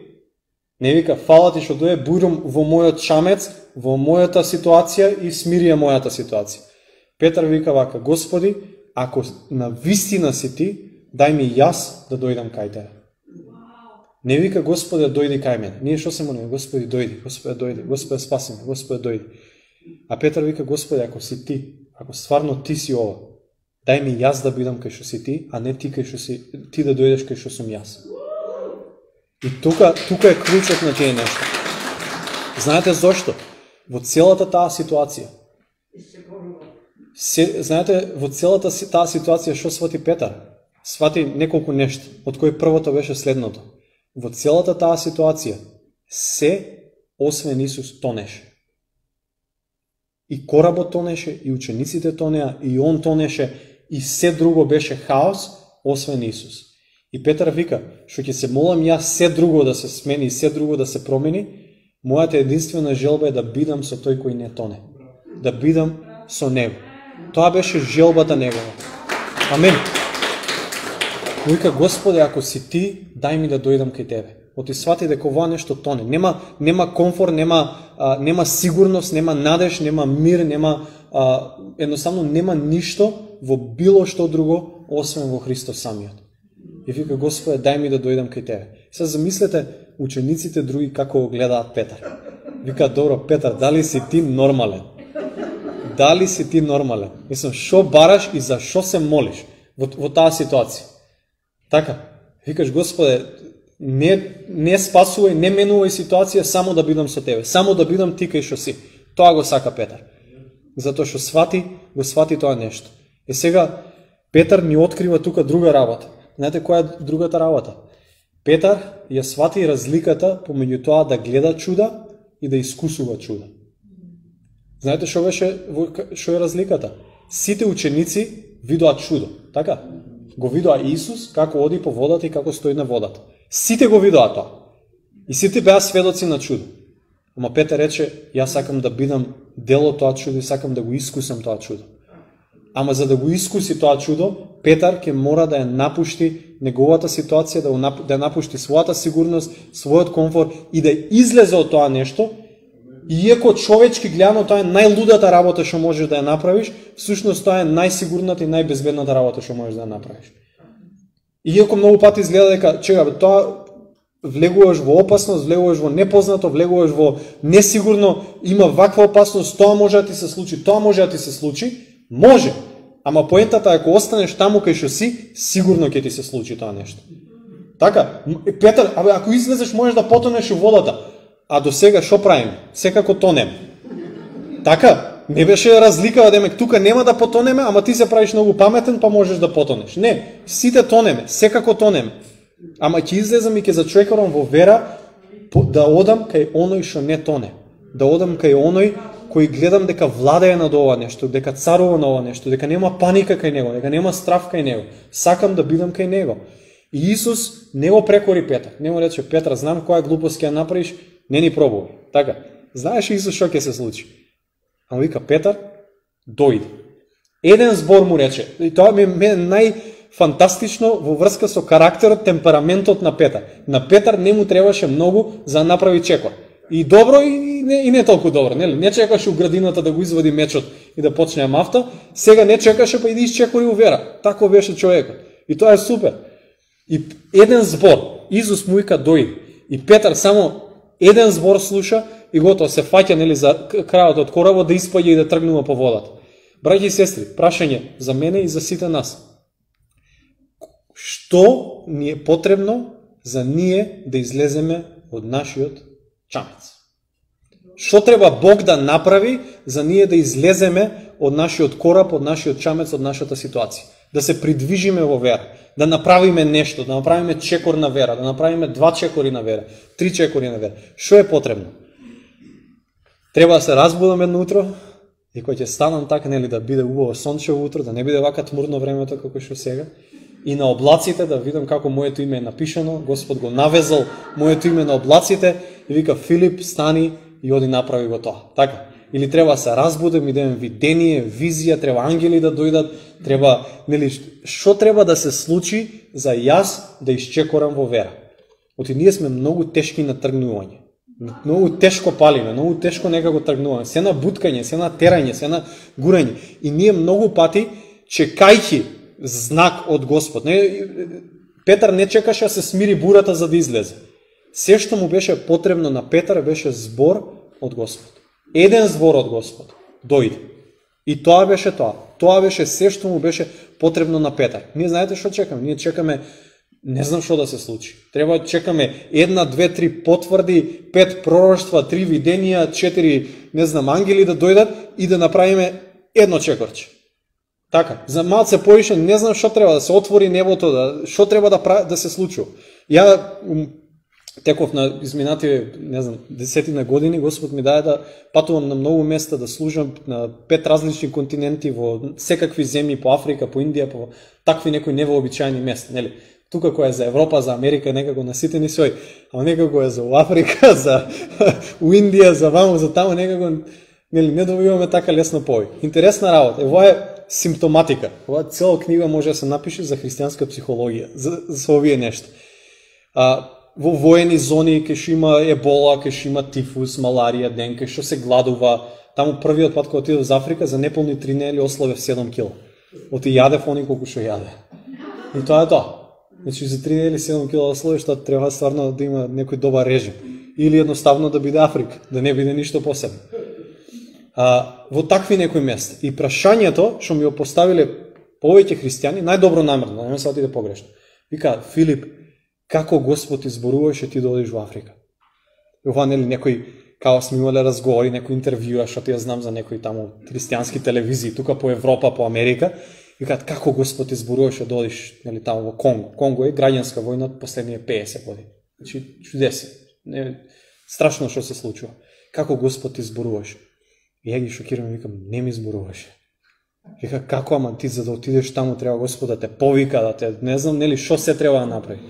A: не вика, фала ти што дојде, бујрум во мојот шамец, во мојата ситуација и смирија мојата ситуација. Петар вика вака, Господи, ако на вистина си ти, дај ми јас да дојдам кај тебе. Не вика, Господе, дојди кај мене. Ние што се молиме, Господи, дојди, Господе, дојди, Господе, спаси ме, Господе, дојди. А Петар вика, Господи, ако си ти, ако стварно ти си ова, дај ми јас да бидам кај што си ти, а не ти кај што си, ти да дојдеш кај што сум јас. И тука, тука е клучот на тие нешто. Знаете зошто? Во целата таа ситуација. Се, знаете, во целата таа ситуација што свати Петар? Свати неколку нешто, од кои првото беше следното. Во целата таа ситуација, се, освен Исус, тонеше. И коработ тонеше, и учениците тонеа, и он тонеше, и се друго беше хаос, освен Исус. И Петар вика, што ќе се молам јас се друго да се смени, се друго да се промени, мојата единствена желба е да бидам со тој кој не тоне. Да бидам со него. Тоа беше желбата негова. Амен. Вика, Господе, ако си ти, дај ми да дојдам кај тебе. Оти свати дека ова нешто тоне. Нема, нема комфорт, нема, а, нема сигурност, нема надеж, нема мир, нема, а, едноставно нема ништо во било што друго, освен во Христос самиот. И вика, Господе, дај ми да дојдам кај тебе. Сега замислете учениците други како го гледаат Петар. Вика, добро, Петар, дали си ти нормален? Дали си ти нормален? Мислам, шо бараш и за шо се молиш во, во таа ситуација? Така, викаш, Господе, не, не спасувај, не менувај ситуација, само да бидам со тебе, само да бидам ти кај што си. Тоа го сака Петар. Затоа што свати, го свати тоа нешто. Е сега, Петар ни открива тука друга работа. Знаете која е другата работа? Петар ја свати разликата помеѓу тоа да гледа чуда и да искусува чуда. Знаете што беше, што е разликата? Сите ученици видоа чудо, така? Го видоа Исус како оди по водата и како стои на водата. Сите го видоа тоа. И сите беа сведоци на чудо. Ама Петар рече, јас сакам да бидам дел од тоа чудо и сакам да го искусам тоа чудо. Ама за да го искуси тоа чудо, Петар ќе мора да ја напушти неговата ситуација, да, да ја напушти својата сигурност, својот комфорт и да излезе од тоа нешто. Иако човечки гледано тоа е најлудата работа што можеш да ја направиш, всушност тоа е најсигурната и најбезбедната работа што можеш да ја направиш. Иако многу пати изгледа дека, чека, тоа влегуваш во опасност, влегуваш во непознато, влегуваш во несигурно, има ваква опасност, тоа може да ти се случи, тоа може да ти се случи, може. Ама поентата е ако останеш таму кај што си, сигурно ќе ти се случи тоа нешто. Така, Петар, абе, ако излезеш можеш да потонеш во водата. А до сега што правим? Секако тонем. Така, не беше разлика, демек тука нема да потонеме, ама ти се правиш многу паметен, па можеш да потонеш. Не, сите тонеме, секако тонеме. Ама ќе излезам и ќе зачекорам во вера да одам кај оној што не тоне. Да одам кај оној кој гледам дека владее над ова нешто, дека царува на ова нешто, дека нема паника кај него, дека нема страв кај него. Сакам да бидам кај него. И Исус не го прекори Петар. Не му рече, Петар, знам која глупост ќе ја направиш, не ни пробувај. Така, знаеш Исус што ќе се случи? Ама вика, Петар, дојди. Еден збор му рече, и тоа ми е најфантастично во врска со карактерот, темпераментот на Петар. На Петар не му требаше многу за да направи чекор. И добро, и не, и не толку добро. Не, не чекаше у градината да го извади мечот и да почне мафта, сега не чекаше па и да изчекори у вера. Тако беше човекот. И тоа е супер. И еден збор, Исус му вика дојди. И Петар само еден збор слуша и готово се фаќа нели за крајот од коработ да испаѓа и да тргнува по водата. Браќи и сестри, прашање за мене и за сите нас. Што ни е потребно за ние да излеземе од нашиот чамец? Што треба Бог да направи за ние да излеземе од нашиот кораб, од нашиот чамец, од нашата ситуација. Да се придвижиме во вера, да направиме нешто, да направиме чекор на вера, да направиме два чекори на вера, три чекори на вера. Што е потребно? Треба да се разбудам едно утро и кој ќе станам така, нели, да биде убаво сончево утро, да не биде вака тмурно времето како што сега. И на облаците да видам како моето име е напишано, Господ го навезал моето име на облаците и вика Филип стани и оди направи го тоа. Така. Или треба да се разбудам и да имам видение, визија, треба ангели да дојдат, треба, нели, што треба да се случи за јас да исчекорам во вера. Оти ние сме многу тешки на тргнување. Многу тешко палиме, многу тешко некако тргнуваме. Се на буткање, се на терање, се на гурање. И ние многу пати чекајќи знак од Господ. Не, Петар не чекаше да се смири бурата за да излезе. Се што му беше потребно на Петар беше збор од Господ. Еден збор од Господ дојде. И тоа беше тоа. Тоа беше се што му беше потребно на Петар. Ние знаете што чекаме? Ние чекаме, не знам што да се случи. Треба да чекаме една, две, три потврди, пет пророштва, три виденија, четири, не знам, ангели да дојдат и да направиме едно чекорче. Така, за малце поише, не знам што треба да се отвори небото, да, што треба да, да се случува. Ја теков на изминативе, не знам, десетина години, Господ ми даде да патувам на многу места, да служам на пет различни континенти, во секакви земји, по Африка, по Индија, по такви некои невообичаени места, нели? Тука кој е за Европа, за Америка, некако наситени свој, а некако е за Африка, за у Индија, за ваму, за таму, некако, нели, не добиваме така лесно повеќе. Интересна работа. Ево е симптоматика. Ова цела книга може да се напише за христијанска психологија, за, за овие нешта. А, во воени зони ќе што има ебола, ќе што има тифус, маларија, денка, што се гладува. Таму првиот пат кога отидов за Африка, за неполни три недели ослабев седум кила. Оти јадев они колку што јаде. И тоа е тоа. Значи за три недели седум кила ослабеш, тоа треба стварно да има некој добар режим. Или едноставно да биде Африка, да не биде ништо посебно. А, во такви некои места. И прашањето што ми го поставиле повеќе христијани, најдобро намерно, не ме се отиде погрешно. Вика, Филип, како Господ изборуваше ти да одиш во Африка? И ова, нели, некој, као сме имале разговори, некој интервјуа, што ти ја знам за некои таму христијански телевизии, тука по Европа, по Америка, викаат, како Господ изборуваше да одиш, нели, таму во Конго. Конго е граѓанска војна од последние пеесет години. Значи, чудесно. Не, страшно што се случува. Како Господ изборуваше? И ја ги шокирам и викам, не ми изборуваше. Вика, како, ама ти за да отидеш таму треба Господ да те повика, да те, не знам, нели, што се треба да направи.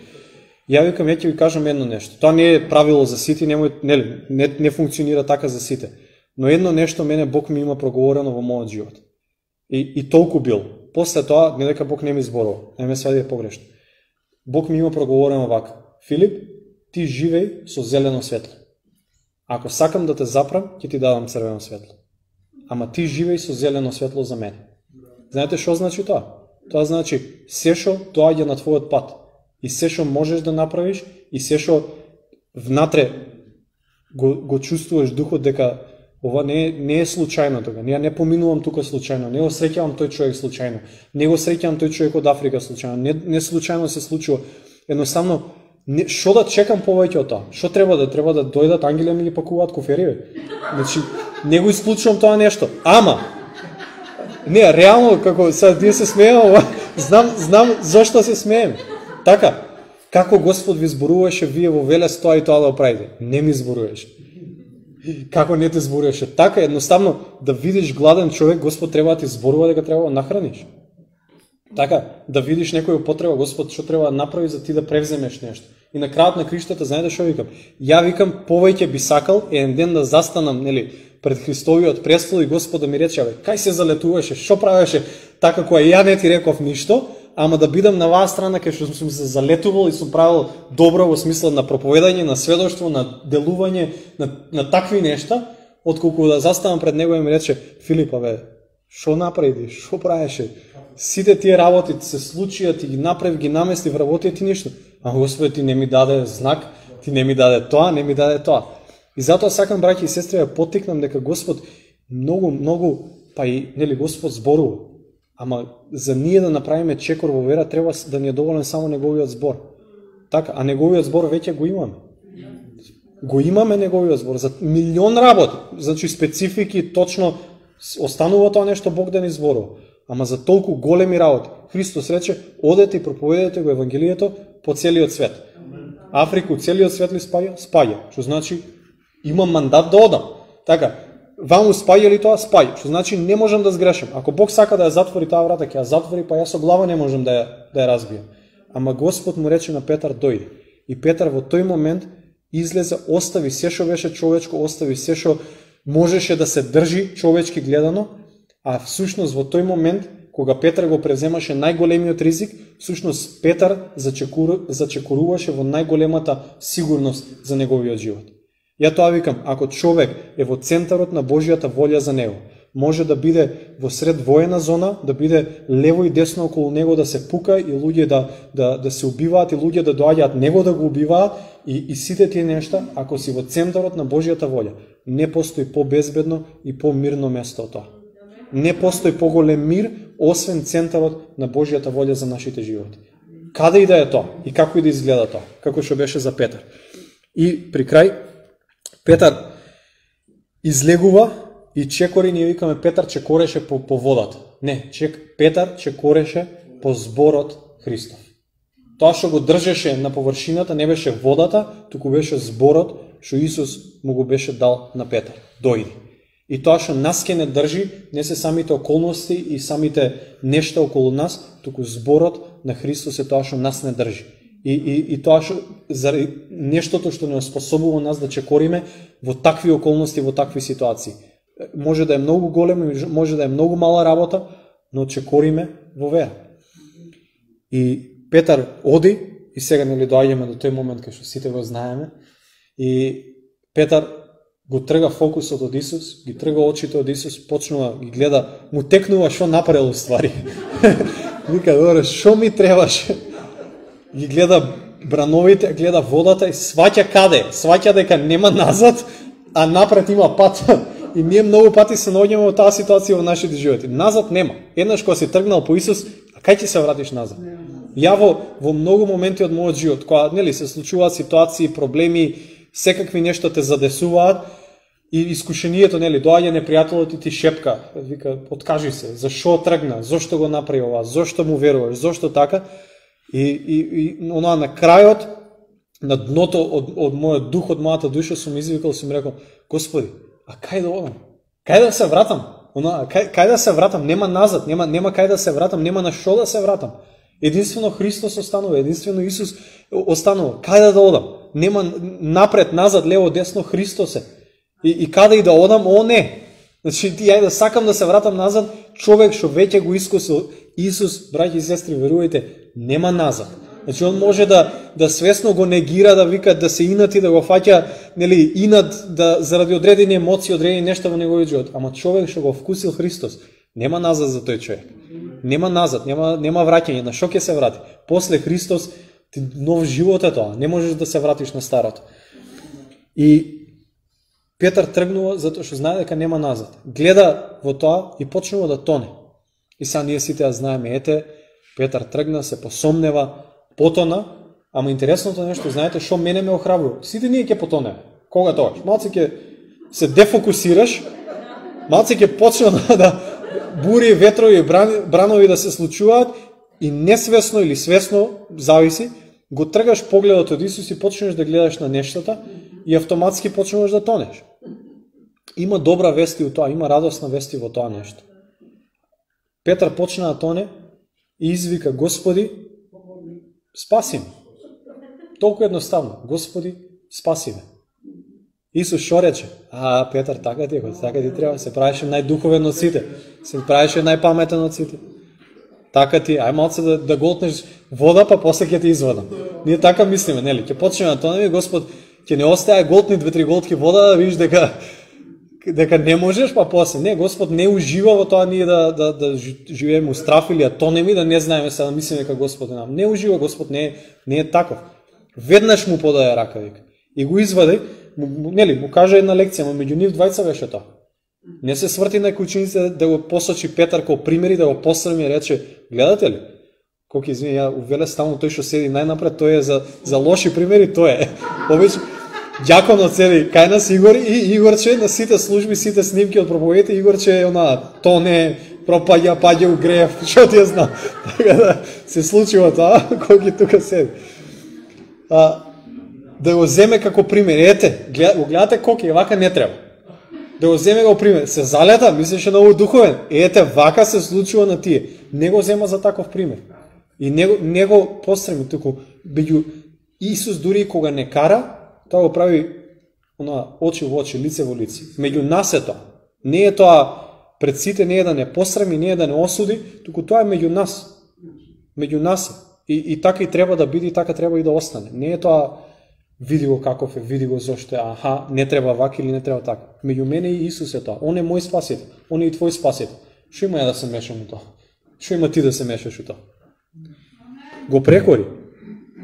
A: Ја викам, ја ќе ви кажам едно нешто. Тоа не е правило за сите, немој, нели, не, не функционира така за сите. Но едно нешто мене Бог ми има проговорено во мојот живот. И, и толку бил. После тоа, не дека Бог не ми изборува, не ме свади погрешно. Бог ми има проговорено вака. Филип, ти живеј со зелено светло. Ако сакам да те запрам, ќе ти дадам црвено светло. Ама ти живеј со зелено светло за мене. Знаете што значи тоа? Тоа значи се што доаѓа на твојот пат и се што можеш да направиш и се што внатре го, го чувствуваш духот дека ова не, не е случајно тога. Ја не поминувам тука случајно, не го среќавам тој човек случајно, не го среќавам тој човек од Африка случајно, не, не случајно се случува. Едноставно, што да чекам повеќе од тоа? Што треба да треба да дојдат ангели ми ги пакуваат куфери? Значи, не го исклучувам тоа нешто. Ама не, реално како сега ние се смееме, знам знам зошто се смееме. Така, како Господ ви зборуваше вие во Велес тоа и тоа да правите? Не ми зборуваше. Како не те зборуваше? Така, едноставно да видиш гладен човек, Господ треба да ти зборува дека треба да нахраниш. Така, да видиш некој потреба, Господ што треба да направи за ти да превземеш нешто. И на крајот на криштата, знаете што викам? Ја викам, повеќе би сакал еден ден да застанам, нели, пред Христовиот престол и Господ да ми рече, бе, кај се залетуваше, што правеше така кога ја не ти реков ништо, ама да бидам на ваа страна кај што сум се залетувал и сум правил добро во смисла на проповедање, на сведоштво, на делување, на, на такви нешта, отколку да застанам пред него и ми рече, Филипа, бе, што направи, што правеше? Сите тие работи се случија, ти ги направи, ги намести в работи, ти ништо. А Господи, ти не ми даде знак, ти не ми даде тоа, не ми даде тоа. И затоа сакам, браќи и сестри, да поттикнам дека Господ многу, многу, па и, нели, Господ зборува. Ама за ние да направиме чекор во вера, треба да ни е доволен само неговиот збор. Така, а неговиот збор веќе го имаме. Го имаме неговиот збор за милион работи, значи специфики, точно останува тоа нешто Бог да ни зборува. Ама за толку големи работи. Христос рече, одете и проповедете го Евангелието по целиот свет. Африку, целиот свет ли спаја? Спаја. Што значи, имам мандат да одам. Така, вам спаја ли тоа? Спаја. Што значи, не можам да сгрешам. Ако Бог сака да ја затвори таа врата, ќе ја затвори, па јас со глава не можам да ја, да ја разбијам. Ама Господ му рече на Петар, дојди. И Петар во тој момент излезе, остави се што беше човечко, остави се што можеше да се држи човечки гледано, а всушност во тој момент, кога Петар го преземаше најголемиот ризик, всушност Петар зачекуру, зачекуруваше во најголемата сигурност за неговиот живот. Ја тоа викам, ако човек е во центарот на Божјата волја за него, може да биде во сред воена зона, да биде лево и десно околу него да се пука и луѓе да, да, да се убиваат и луѓе да доаѓаат него да го убиваат и, и сите тие нешта, ако си во центарот на Божјата волја, не постои по-безбедно и по-мирно место од тоа. Не постои поголем мир, освен центарот на Божјата волја за нашите животи. Каде и да е тоа, и како и да изгледа тоа, како што беше за Петар. И при крај, Петар излегува и чекори, ние викаме Петар чекореше по, по водата. Не, чек, Петар чекореше по зборот Христов. Тоа што го држеше на површината не беше водата, туку беше зборот што Исус му го беше дал на Петар. Дојди. И тоа што нас ке не држи, не се самите околности и самите нешта околу нас, туку зборот на Христос е тоа што нас не држи. И, и, и тоа што, заради нештото што не способува нас да чекориме во такви околности, во такви ситуации. Може да е многу големо, може да е многу мала работа, но чекориме во вера. И Петар оди, и сега нели доаѓаме до тој момент кај што сите го знаеме, и Петар го трга фокусот од Исус, ги трга очите од Исус, почнува ги гледа, му текнува што направил ствари. Вика, добре, што ми требаше? Ги гледа брановите, гледа водата и сваќа каде? Сваќа дека нема назад, а напред има пат. И ние многу пати се наоѓаме во таа ситуација во нашите животи. Назад нема. Еднаш кога си тргнал по Исус, а кај ќе се вратиш назад? Ја во, во многу моменти од мојот живот, кога нели се случуваат ситуации, проблеми, секакви нешто те задесуваат и искушението, нели, доаѓа непријателот и ти шепка, вика, откажи се, зашо тргна, зошто го направи ова, зошто му веруваш, зошто така? И, и, и онаа на крајот, на дното од, од мојот дух, од мојата душа, сум извикал, сум рекол, Господи, а кај да одам? Кај да се вратам? Она, кај, кај да се вратам? Нема назад, нема, нема кај да се вратам, нема на што да се вратам. Единствено Христос останува, единствено Исус останува. Кај да одам? Нема напред, назад, лево, десно, Христос е. И, и каде и да одам, о не. Значи, ја да сакам да се вратам назад, човек што веќе го искусил Исус, браќи и сестри, верувајте, нема назад. Значи, он може да, да свесно го негира, да вика, да се инати, да го фаќа, нели, инат, да, заради одредени емоции, одредени нешта во неговиот живот. Ама човек што го вкусил Христос, нема назад за тој човек. Нема назад, нема, нема враќање. На што ќе се врати? После Христос, ти нов живот е тоа. Не можеш да се вратиш на старото. И Петар тргнува затоа што знае дека нема назад. Гледа во тоа и почнува да тоне. И сега ние сите ја знаеме, ете, Петар тргна, се посомнева, потона, ама интересното нешто, знаете, што мене ме охрабрува. Сите ние ќе потонеме. Кога тоа? Малце ќе се дефокусираш, малце ќе почне да бури, ветрови, бранови да се случуваат и несвесно или свесно, зависи, го тргаш погледот од Исус и почнеш да гледаш на нештата и автоматски почнеш да тонеш. Има добра вести у тоа, има радосна вести во тоа нешто. Петар почна да тоне и извика, Господи, спаси ме. Толку едноставно, Господи, спаси ме. Исус шо рече? А, Петар, така ти е, така ти треба, се правеше најдуховен од сите, се правеше најпаметен од сите. Така ти, ај малце да, да голтнеш вода, па после ќе ти извадам. Ние така мислиме, нели? Ќе почнеме на тонеме, Господ ќе не остае голтни две-три голтки вода, да видиш дека дека не можеш, па после. Не, Господ не ужива во тоа ние да, да, да живееме у страф или да тонеме, да не знаеме се, да мислиме дека Господ е нам. Не ужива, Господ не е, не е таков. Веднаш му подаде рака, вика. И го извади, му, нели, му каже една лекција, но меѓу нив двајца беше тоа. Не се сврти на учениците да го посочи Петар како примери, да го посрми и рече, гледате ли? Колку извини, ја увеле стално тој што седи најнапред, тој е за, за лоши примери, тој е. Обично, Ѓаконот цели кај нас Игор и Игорче на сите служби, сите снимки од проповедите, Игорче е она тоне, пропаѓа, паѓа у грев, што ти ја знам. Така да се случува тоа, кој ги тука седи. А, да го земе како пример. Ете, гледа, гледате колку е вака не треба. Да го земе како пример. Се залета, мислеше на овој духовен. Ете, вака се случува на тие. Не го зема за таков пример. И не, не го постреми туку. Беѓу Исус дури кога не кара, тоа го прави она очи во очи, лице во лице. Меѓу нас е тоа. Не е тоа пред сите, не е да не постреми, не е да не осуди, туку тоа е меѓу нас. Меѓу нас е. И, и така и треба да биде, и така треба и да остане. Не е тоа види го каков е, види го зошто е, аха, не треба вака или не треба така. Меѓу мене и Исус е тоа. Он е мој спасител, он е и твој спасител. Што има ја да се мешам у тоа? Што има ти да се мешаш у тоа? Го прекори.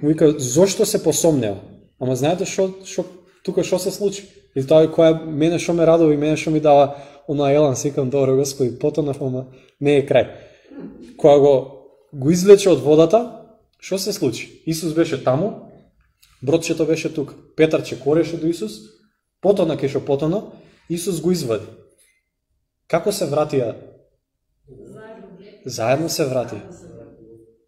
A: Вика, зошто се посомнева? Ама знаете што, што тука што се случи? И тоа која мене што ме радува и мене што ми дава она елан, сикам, добро Господи, потонав, ама не е крај. Кога го го извлече од водата, што се случи? Исус беше таму, бродчето беше тука. Петар чекореше до Исус, потона ке што потона, Исус го извади. Како се вратија? Заедно се вратија.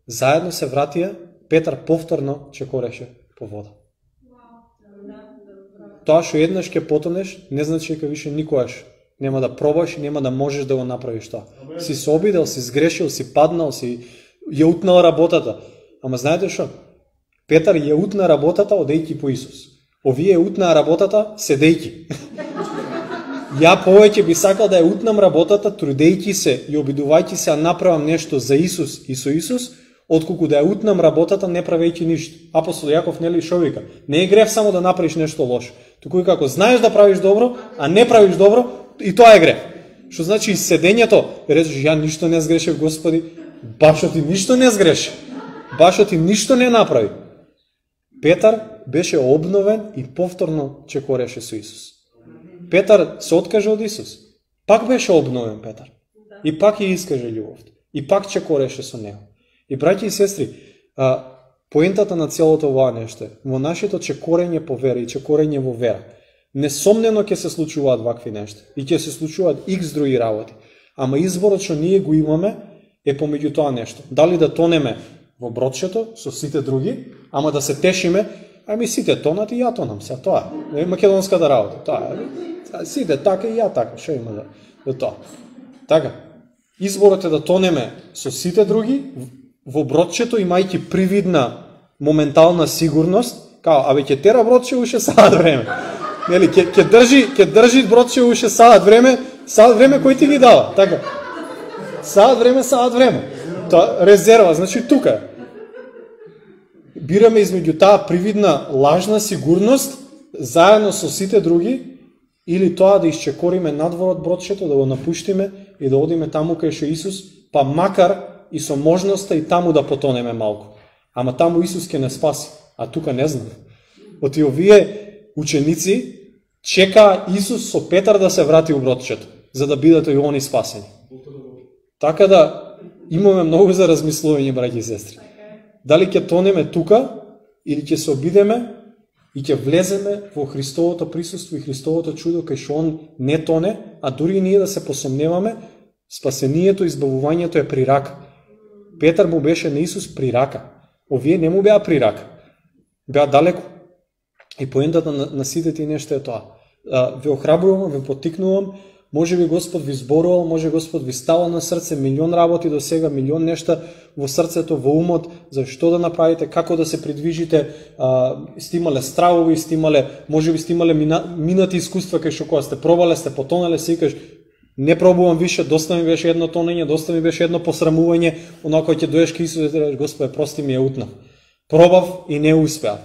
A: Заедно се вратија, Петар повторно чекореше по вода. Тоа што еднаш ќе потонеш, не значи дека више никогаш нема да пробаш и нема да можеш да го направиш тоа. Си се обидел, си сгрешил, си паднал, си ја утнал работата. Ама знаете што? Петар ја утна работата одејќи по Исус. Овие ја утнаа работата седејќи. Ја повеќе би сакал да ја утнам работата трудејќи се и обидувајќи се да направам нешто за Исус и со Исус, отколку да ја утнам работата не правејќи ништо. Апостол Јаков нели шо вика? Не е грев само да направиш нешто лошо. Туку и како знаеш да правиш добро, а не правиш добро, и тоа е грев. Што значи и седењето, речеш ја ништо не сгрешив Господи, башо ти ништо не сгреши. Башо ти ништо не направи. Петар беше обновен и повторно чекореше со Исус. Петар се откаже од Исус. Пак беше обновен Петар. И пак ја искаже љубовта. И пак чекореше со него. И браќи и сестри, а, поентата на целото ова нешто е во нашето чекорење по вера и чекорење во вера. Несомнено ќе се случуваат вакви нешта и ќе се случуваат икс други работи. Ама изборот што ние го имаме е помеѓу тоа нешто. Дали да тонеме во бродчето со сите други, ама да се тешиме, ами сите тонат и ја тонам, се тоа е македонската работа. Тоа е. Сите така и ја така, што има да, да тоа. Така. Изборот е да тонеме со сите други во бродчето, имајќи привидна моментална сигурност, као, абе ќе тера бродче уште саат време. Нели, ќе ќе држи, ќе држи бродче уште саат време, саат време кој ти ги дава, така. Саат време, саат време. Тоа резерва, значи тука. Бираме измеѓу таа привидна лажна сигурност заедно со сите други или тоа да исчекориме надвор од бродчето, да го напуштиме и да одиме таму кај што Исус, па макар и со можноста и таму да потонеме малку. Ама таму Исус ќе не спаси, а тука не знам. Оти овие ученици чека Исус со Петар да се врати у бродчето, за да бидат и они спасени. Така да имаме многу за размислување, браќи и сестри. Дали ќе тонеме тука или ќе се обидеме и ќе влеземе во Христовото присуство и Христовото чудо кај што он не тоне, а дури и ние да се посомневаме, спасението, избавувањето е при рака. Петар му беше на Исус при рака. Овие не му беа при рака. Беа далеко. И поентата на, на сите ти нешто е тоа. А, ве охрабрувам, ве поттикнувам, може би Господ ви зборувал, може Господ ви ставал на срце милион работи до сега, милион нешта во срцето, во умот, за што да направите, како да се придвижите, а, сте имале стравови, сте имале, може би сте имале мина, минати искуства кај што кога сте пробале, сте потонале, се викаш, не пробувам више, доста ми беше едно тонење, доста ми беше едно посрамување, онако ќе доеш кај Исус и кажеш, Господе, прости ми, ја утнав. Пробав и не успеав.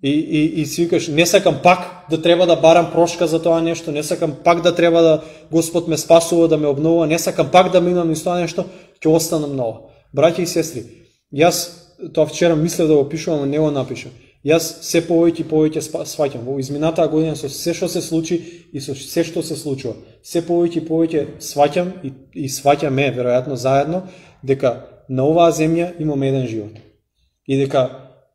A: И, и, и си викаш, не сакам пак да треба да барам прошка за тоа нешто, не сакам пак да треба да Господ ме спасува, да ме обновува, не сакам пак да минам низ тоа нешто, ќе останам ново. Браќи и сестри, јас тоа вчера мислев да го пишувам, но не го напишам. Јас се повеќе и повеќе сваќам во изминатаа година со се што се случи и со се што се случува. Се повеќе и повеќе сваќам и, и сваќаме веројатно заедно дека на оваа земја имаме еден живот. И дека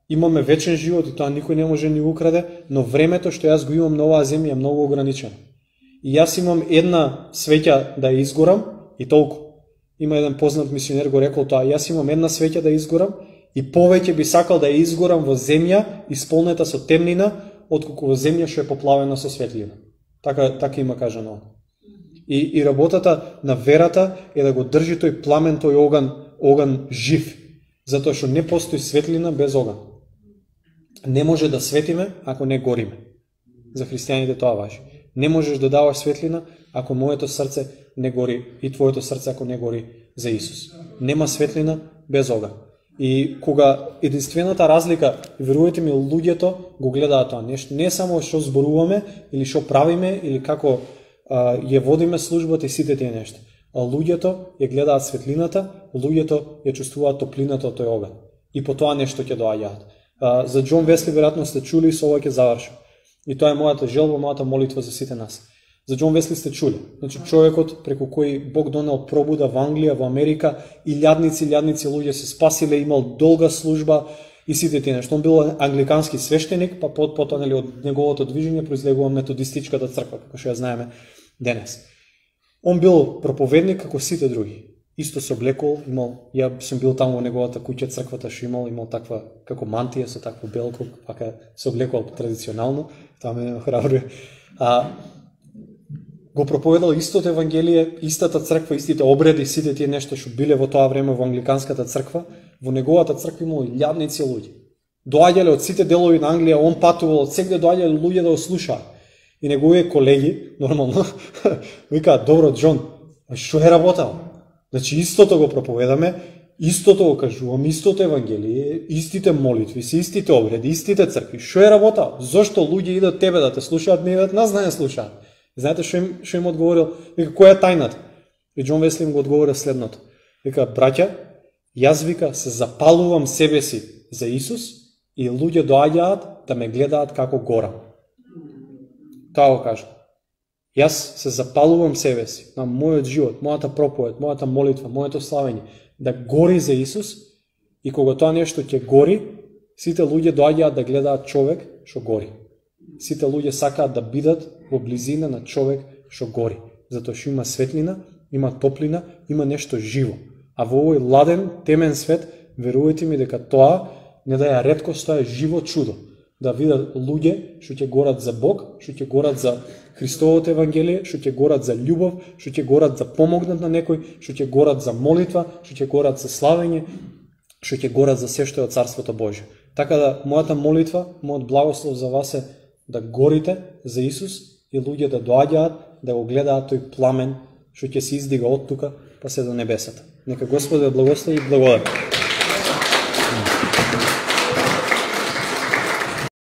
A: Имаме вечен живот и тоа никој не може ни украде, но времето што јас го имам на оваа земја е многу ограничено. И јас имам една свеќа да ја изгорам и толку. Има еден познат мисионер го рекол тоа, јас имам една свеќа да изгорам и повеќе би сакал да ја изгорам во земја исполнета со темнина, отколку во земја што е поплавена со светлина. Така, така има кажано. И, и работата на верата е да го држи тој пламен, тој оган, оган жив, затоа што не постои светлина без оган. Не може да светиме ако не гориме. За христијаните тоа важи. Не можеш да даваш светлина ако моето срце не гори и твоето срце ако не гори за Исус. Нема светлина без оган. И кога единствената разлика, верувате ми, луѓето го гледаат тоа нешто, не само што зборуваме или што правиме или како а, ја водиме службата и сите тие нешта, а луѓето ја гледаат светлината, луѓето ја чувствуваат топлината од тој оган. И по тоа нешто ќе доаѓаат. За Џон Весли веројатно сте чули, со ова ќе завршам. И тоа е мојата желба, мојата молитва за сите нас. За Џон Весли сте чули. Значи човекот преку кој Бог донел пробуда во Англија, во Америка, и илјадници, илјадници луѓе се спасиле, имал долга служба и сите тие нешто. Он бил англикански свештеник, па потоа нели од неговото движење произлегува методистичката црква, како што ја знаеме денес. Он бил проповедник како сите други. Исто се облекол, имал, ја сум бил таму во неговата куќа, црквата што имал, имал таква како мантија со такво белко, пака се облекол традиционално, тоа ме охрабрува. А го проповедал истото евангелие, истата црква, истите обреди, сите тие нешта што биле во тоа време во англиканската црква, во неговата црква имало илјадници луѓе. Доаѓале од сите делови на Англија, он патувал, од сегде доаѓале луѓе да го слушаат. И неговите колеги, нормално, викаат: "Добро, Џон, што е работал? Значи истото го проповедаме, истото го кажуваме, истото евангелие, истите молитви, истите обреди, истите цркви. Што е работал? Зошто луѓе идат тебе да те слушаат, не идат нас да не слушаат?" Знаете што им, што им одговорил? Вика: "Која е тајната?" И Џон Весли им го одговорил следното. Вика: "Браќа, јас вика се запалувам себе си за Исус и луѓе доаѓаат да ме гледаат како горам." Тоа го кажа. Јас се запалувам себе си на мојот живот, мојата проповед, мојата молитва, моето славење да гори за Исус, и кога тоа нешто ќе гори, сите луѓе доаѓаат да гледаат човек што гори. Сите луѓе сакаат да бидат во близина на човек што гори, затоа што има светлина, има топлина, има нешто живо. А во овој ладен, темен свет, верувате ми дека тоа не да ја реткост, тоа е живо чудо. Да видат луѓе што ќе горат за Бог, што ќе горат за Христовото евангелие, што ќе горат за љубов, што ќе горат за помогнат на некој, што ќе горат за молитва, што ќе горат за славење, што ќе горат за се што е од Царството Божје. Така да, мојата молитва, мојот благослов за вас е да горите за Исус и луѓе да доаѓаат да го гледаат тој пламен што ќе се издига од тука па се до небесата. Нека Господ ве благослови и благодари.